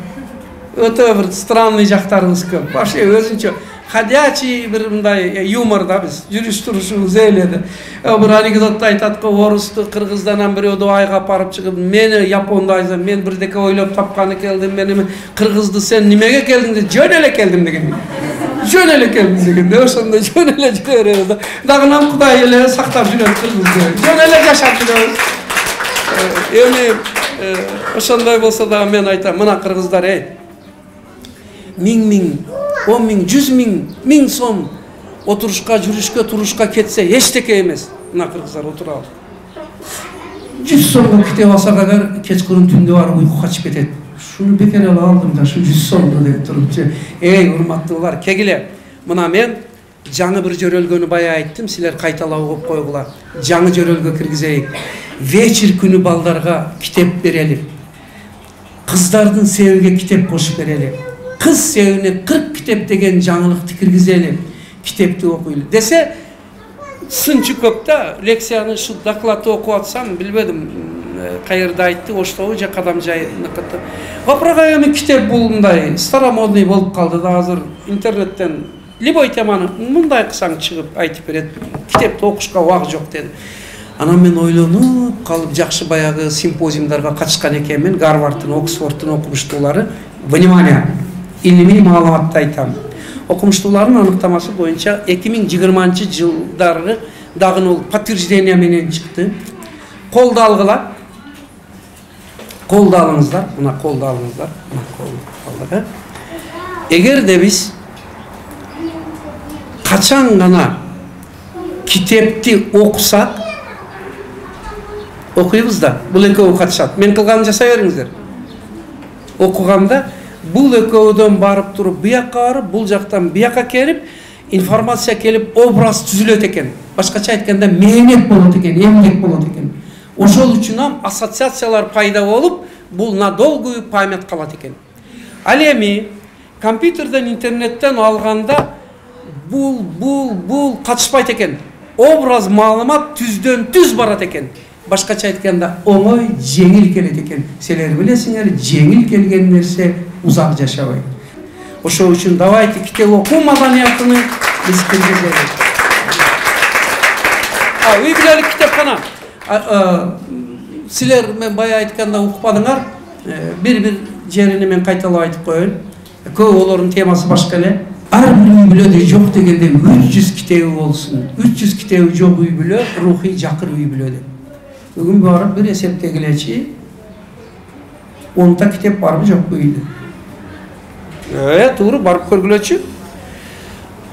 Өтө бир странный жактарыбыз көп. Вообще өзүнчө ходячий бир мындай юмор да биз. Жүрүш турушубуз эледи. Бир анекдотто айтат го, орусту кыргыздан бирөөдү айга апарып чыгып, мени Японду айза, мен бирдеке ойлоп тапканы келдим, мени кыргызды сен немеге келдиң деп, жөн эле келдим деген. Жөн эле келдим дегенде, ошондо жөн эле жүрөбүз да. Дагы нам Кудай эле сактап жүрөт кыргызды. Жөн эле жашап жүрөбүз. эми ошондой болсо дагы мен айтам, мына кыргыздар, эй, миң миң, он миң, жүз миң, миң сом отурушка, жүрүшкө, турушка кетсе эчтеке эмес. Мына кыргыздар отурабыз. жүз сомго китеп алсак агар кечкурун түндө барып уйку качып кетет. Шуну бекер эле алдым да, ушу жүз сомду деп турупчу. Эй, урматтуулар, кегиле. Мына мен жаңы бир жөрөлгөнү бая айттым, силер кайталап угуп койгула. Жаңы жөрөлгө киргизейик. Вечер күнү балдарга китеп берели. Кыздардын себиге китеп кошуп берели. Кыз себине кырк китеп деген жаңылыкты киргизели. Китепти окуйлу десе, сынчы көп да, лекцияны шу докладты окуп атсам, билбедим, кайерде айтты, Оштобу же Кадамжайныкыты. Вопрога эми китеп булундай старомодный болуп калды да, азыр интернеттен любой теманы мындай кылсаң чыгып айтып берет. Китепти окушка убак жок деди. Анан мен ойлонуп калып, жакшы баягы симпозиумдарга катышкан экенмин, Гарвардтын, Оксфордтун окумуштуулары. Внимание, илимий маалыматты айтам. Окумуштуулардын аныктамасы боюнча эки миң жыйырманчы жылдары дагы ол подтверждение менен чыкты. Колду алгыла. Колду алыңыздар, мына колду алыңыздар, мына колду алгыла. Эгерде биз качан гана китепти окусак, окуйбуз да, бул экөө катышат. Мен кылганын жасай бериңиздер. Окуганда бул экөөдөн барып туруп бияка барып, бул жактан бияка келип, информация келип, образ түзүлөт экен. Башкача айтканда мээнет болот экен, эмгек болот экен. Ошол үчүн ассоциациялар пайда болуп, бул на долгую память калат экен. Ал эми компьютерден, интернеттен алганда бул бул бул катышпайт экен. Образ, маалымат түздөн түз барат экен. Башкача айтканда оңой, жеңил келет экен. Силер билесиңер, жеңил келген нерсе узак жашабайт. Ошол үчүн давайте китеп окуу маданиятын биз киргизели. А, үй бүлөлүк китепкана. Силер мен бая айтканда укпадыңар, бир-бир жерини мен кайталап айтып коеюн. Көп олордун темасы башка эле. Ар бир үй бүлөдө жок дегенде үч жүз китеби болсун. үч жүз китеби жок үй бүлө рухий жакыр үй бүлөдө. Бүгүн барып бир эсептегилечи, онта китеп барбы жокпу үйдө? Э, туура, барып көргүлөчү.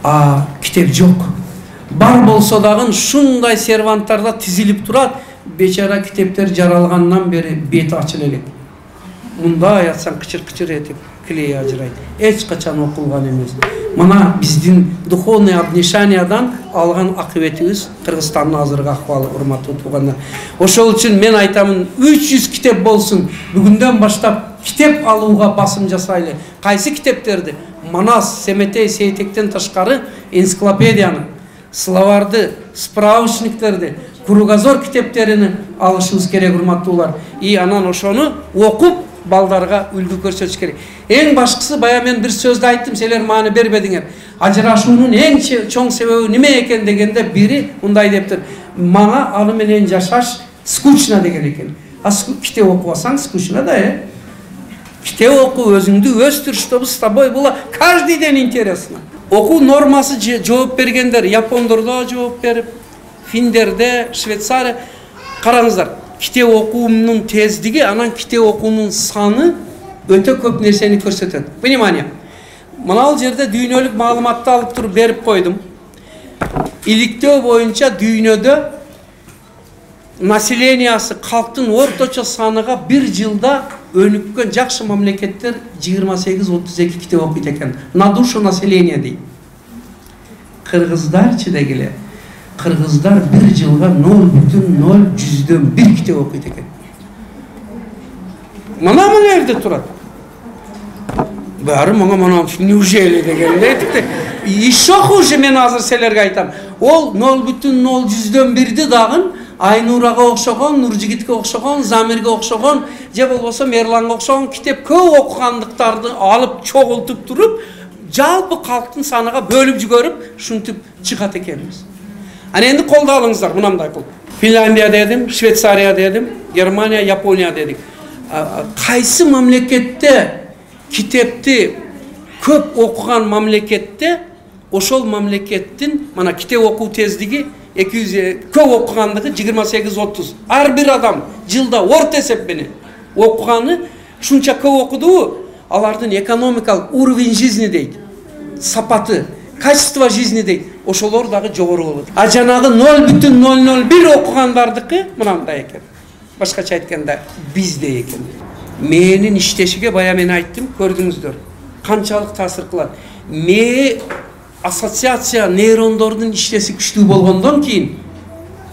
А, китеп жок. Бар болсо дагы шундай серванттарда тизилип турат, бечара китептер жаралгандан бери бети ачыла элек. Мындай атсаң кычыр-кычыр этип клей ажырайт. Эч качан окулган эмес. Мына биздин духовный обнишаниядан алган акыбетибиз Кыргызстандын азыркы акыбалы, урматтуу туугандар. Ошол үчүн мен айтамын, үч жүз китеп болсун. Бүгүндөн баштап китеп алууга басым жасайлы. Кайсы китептерди? Манас, Семетей, Сейтектен тышкары энциклопедияны, словарды, справочниктерди, кругозор китептерини алышыбыз керек, урматтуулар. И анан ошону окуп балдарга үлгү көрсөтүш керек. Эң башкысы, бая мен бир сөздү айттым, силер мааны бербедиңер. Ажырашуунун эң чоң себеби неме экен дегенде бири мындай дептир. Мага аны менен жашаш скучно деген экен. А китеп окубасаң скучно да, э? Китеп оку, өзүңдү өстүр, чтобы с тобой было каждый день интересно. Окуу нормасы жооп бергендер, япондордо жооп берип, финдерде, Швейцария. Караңыздар, китеп окуунун тездиги, анан китеп окуунун саны өтө көп нерсени көрсөтөт. Внимание. Мына бул жерде дүйнөлүк маалыматты алып туруп берип койдум. Иликтөө боюнча дүйнөдө населениясы, калктын орточо саныга бир жылда өнүккөн жакшы мамлекеттер жыйырма сегиз отуз эки китеп окуйт экен. На душу населения дейт. Кыргыздарчы дегиле. Кыргыздар бир жылга ноль бүтүн ноль жүздөн бир китеп окуйт экен. Мына мына жерде турат. Баары мага мына неужели дегенде. Еще хуже, мен азыр силерге айтам. Ол ноль бүтүн ноль жүздөн бирди дагы Айнурага окшогон, Нуржигитке окшогон, Замирге окшогон, же болбосо Мерланга окшогон китеп көп окугандыктарды алып чогултуп туруп, жалпы калктын саныга бөлүп жүгөрүп, шунтип чыгат экенбиз. Ана энди колдо алыңыздар, мынандай кылып. Финляндия дедим, Швейцария дедим, Германия, Япония дедик. Кайсы мамлекетте китепти көп окуган мамлекетте ошол мамлекеттин мана китеп окуу тездиги эки жүз көп окугандыгы жыйырма сегиз отуз. Ар бир адам жылда орто эсеп менен окуганы шунча көп окудубу, алардын экономикалык уровень жизни дейт, сапаты, качество жизни дейт, ошолор дагы жогору болот. А жанагы ноль бүтүн ноль ноль бир окугандардыкы мынандай экен. Башкача айтканда биздей экен. Мээнин иштешиге бая мен айттым, көрдүңүздөр. Канчалык таасир кылат. Мээ ассоциация нейрондордун иштеси күчтүү болгондон кийин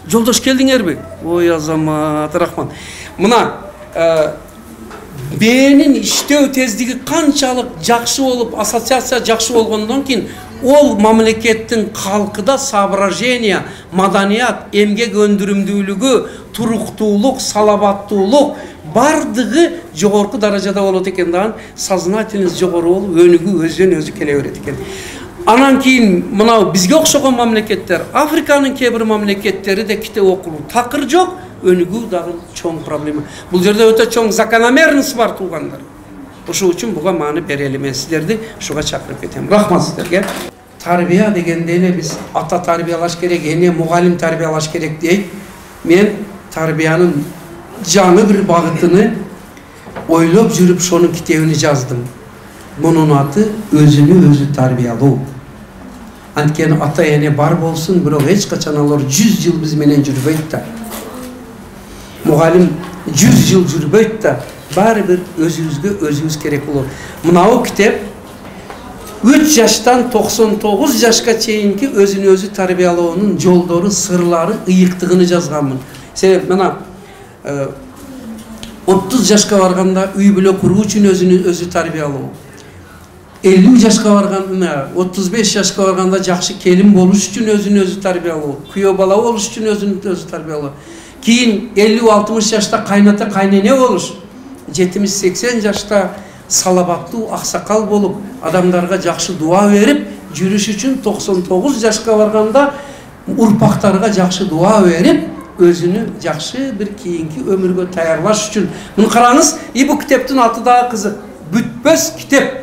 жолдош келдиңерби? Ой азамат, рахмат. Мына мээнин иштөө тездиги канчалык жакшы болуп, ассоциация жакшы болгондон кийин ол мамлекеттин калкыда соображение, маданият, эмгек өндүрүмдүүлүгү, туруктуулук, салабаттуулук бардыгы жогорку даражада болот экен. Дагы сознательность жогору болуп, өнүгүү өзүнөн өзү келе берет экен. Анан кийин мынау бизге окшогон мамлекеттер, Африканын кээ бир мамлекеттери де китеп окулуу такыр жок, өнүгүү дагы чоң проблема. Бул жерде өтө чоң закономерность бар туугандар. Ошол үчүн буга маани берели, мен сиздерди ушуга чакырып кетем. Рахмат сиздерге. Тарбия дегенде эле биз ата тарбиялаш керек, эне мугалим тарбиялаш керек дейт. Мен тарбиянын жаңы бир багытыны ойлоп жүрүп шонун китебини жаздым. Мунун аты өзүнү өзү тарбиялоо. Анткени ата эне бар болсун, бирок эч качан алар жүз жыл биз менен жүрбөйт да. Мугалим жүз жыл жүрбөйт да. Баары бир өзүбүзгө өзүбүз керек болот. Мынау китеп үч жаштан токсон тогуз жашка чейинки өзүнү өзү тарбиялоонун жолдору, сырлары, ыйыктыгын жазганмын. Себеп мына отуз жашка барганда үй бүлө куруу үчүн өзүнү өзү тарбиялоо. элүү жашка барганда, отуз беш жашка барганда жакшы келин болуш үчүн өзүнү өзү тарбиялоо, күйөө бала болуш үчүн өзүнү өзү тарбиялоо. Кийин элүү алтымыш жашта кайната кайнене болуш, жетимиш сексен жашта салабаттуу аксакал болуп, адамдарга жакшы дуа берип жүрүш үчүн токсон тогуз жашка барганда урпактарга жакшы дуа берип, өзүнү жакшы бир кийинки өмүргө таярлаш үчүн. Муну караңыз, и бул китептин аты дагы кызык. Бүтпөс китеп.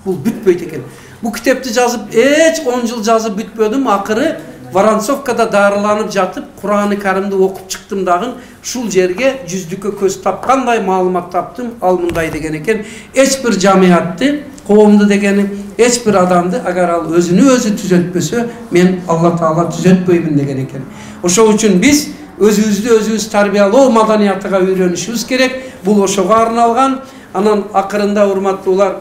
Бул бүтпөйт экен. Бул китепти жазып, эч он жыл жазып бүтпөдүм, акыры Воронцовкада дарыланып жатып, Кур'аны Каримди окуп чыктым дагы, ушул жерге жүздүккө көз тапкандай маалымат таптым, ал мындай деген экен. Эч бир жамиятты, коомду дегени, эч бир адамды агар ал өзүнү өзү түзөтпөсө, мен Алла Таала түзөтпөймүн деген экен. Ошол үчүн биз өзүбүздү өзүбүз тарбиялоо маданиятыга үйрөнүшүбүз керек. Бул ошого арналган. Анан акырында урматтуулар,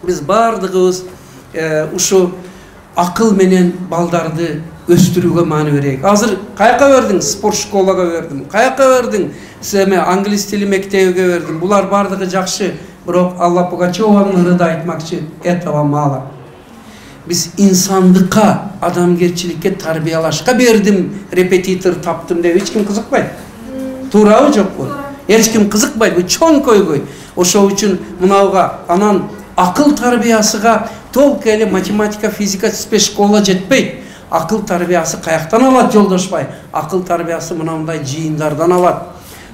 биз бардыгыбыз ушу акыл менен балдарды өстүрүүгө маани берейик. Азыр каяка бердиң? Спорт школага бердим. Каяка бердиң? Эме англис тили мектебиге бердим. Булар бардыгы жакшы, бирок Алла Пугачеванын ырыда айтмакчы, этого мало. Биз инсандыкка, адамгерчиликке тарбиялашка бердим, репетитор таптым деп эч ким кызыкпайт. Туурабы жокпу? Эч ким кызыкпайт, бул чоң көйгөй. Ошол үчүн мынауга анан акыл тарбиясыга толк эле математика, физика, спецшкола жетпейт. Акыл тарбиясы каяктан алат жолдошпай? Акыл тарбиясы мынандай жыйындардан алат.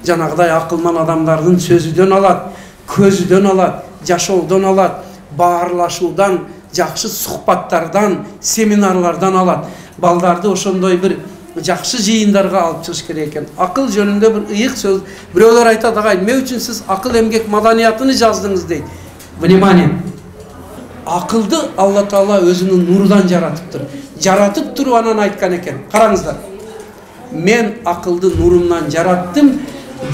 Жанагыдай акылман адамдардын сөзүдөн алат, көзүдөн алат, жашоодон алат, баарлашуудан, жакшы сухбаттардан, семинарлардан алат. Балдарды ошондой бир жакшы жыйындарга алып чыгыш керек экен. Акыл жөнүндө бир ыйык сөз. Бирөөлөр айтат, агай, эмне үчүн сиз акыл эмгек маданиятын жаздыңыз дейт. Внимание. Акылды Алла Таала өзүнүн нурудан жаратыптыр. Жаратып туруп анан айткан экен. Караңыздар. Мен акылды нурумдан жараттым,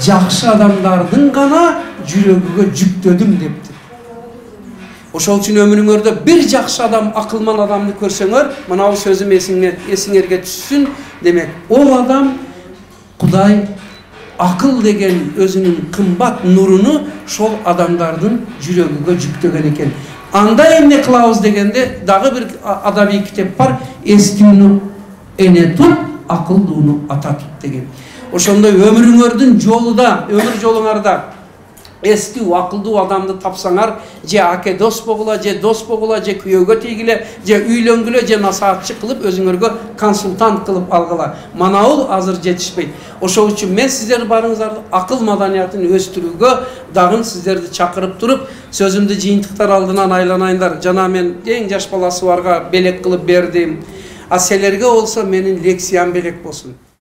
жакшы адамдардын гана жүрөгүгө жүктөдүм депти. Ошол үчүн өмүрүңөрдө бир жакшы адам, акылман адамды көрсөңөр, мынау сөзүм эсиңерге түшсүн. Демек, ол адам Кудай акыл деген өзүнүн кымбат нуруну шол адамдардын жүрөгүгө жүктөгөн экен. Анда эмне кылабыз дегенде дагы бир адабий китеп бар, эстүүнү эне туп, акылдууну ата туп деген. Ошондой өмүрүңөрдүн жолуда, өмүр жолуңарда эстүү, акылдуу адамды тапсаңар, же аке дос болгула, же дос болгула, же күйөөгө тийгиле, же үйлөнгүлө, же насаатчы кылып өзүңөргө консультант кылып алгыла. Манабул азыр жетишпейт. Ошол үчүн мен сиздер барыңыздарды акыл маданиятын өстүрүүгө дагы сиздерди чакырып туруп, сөзүмдү жыйынтыктар алдынан айланайындар. Жана мен эң жаш баласы барга белек кылып бердим. А силерге болсо менин лекциям белек болсун.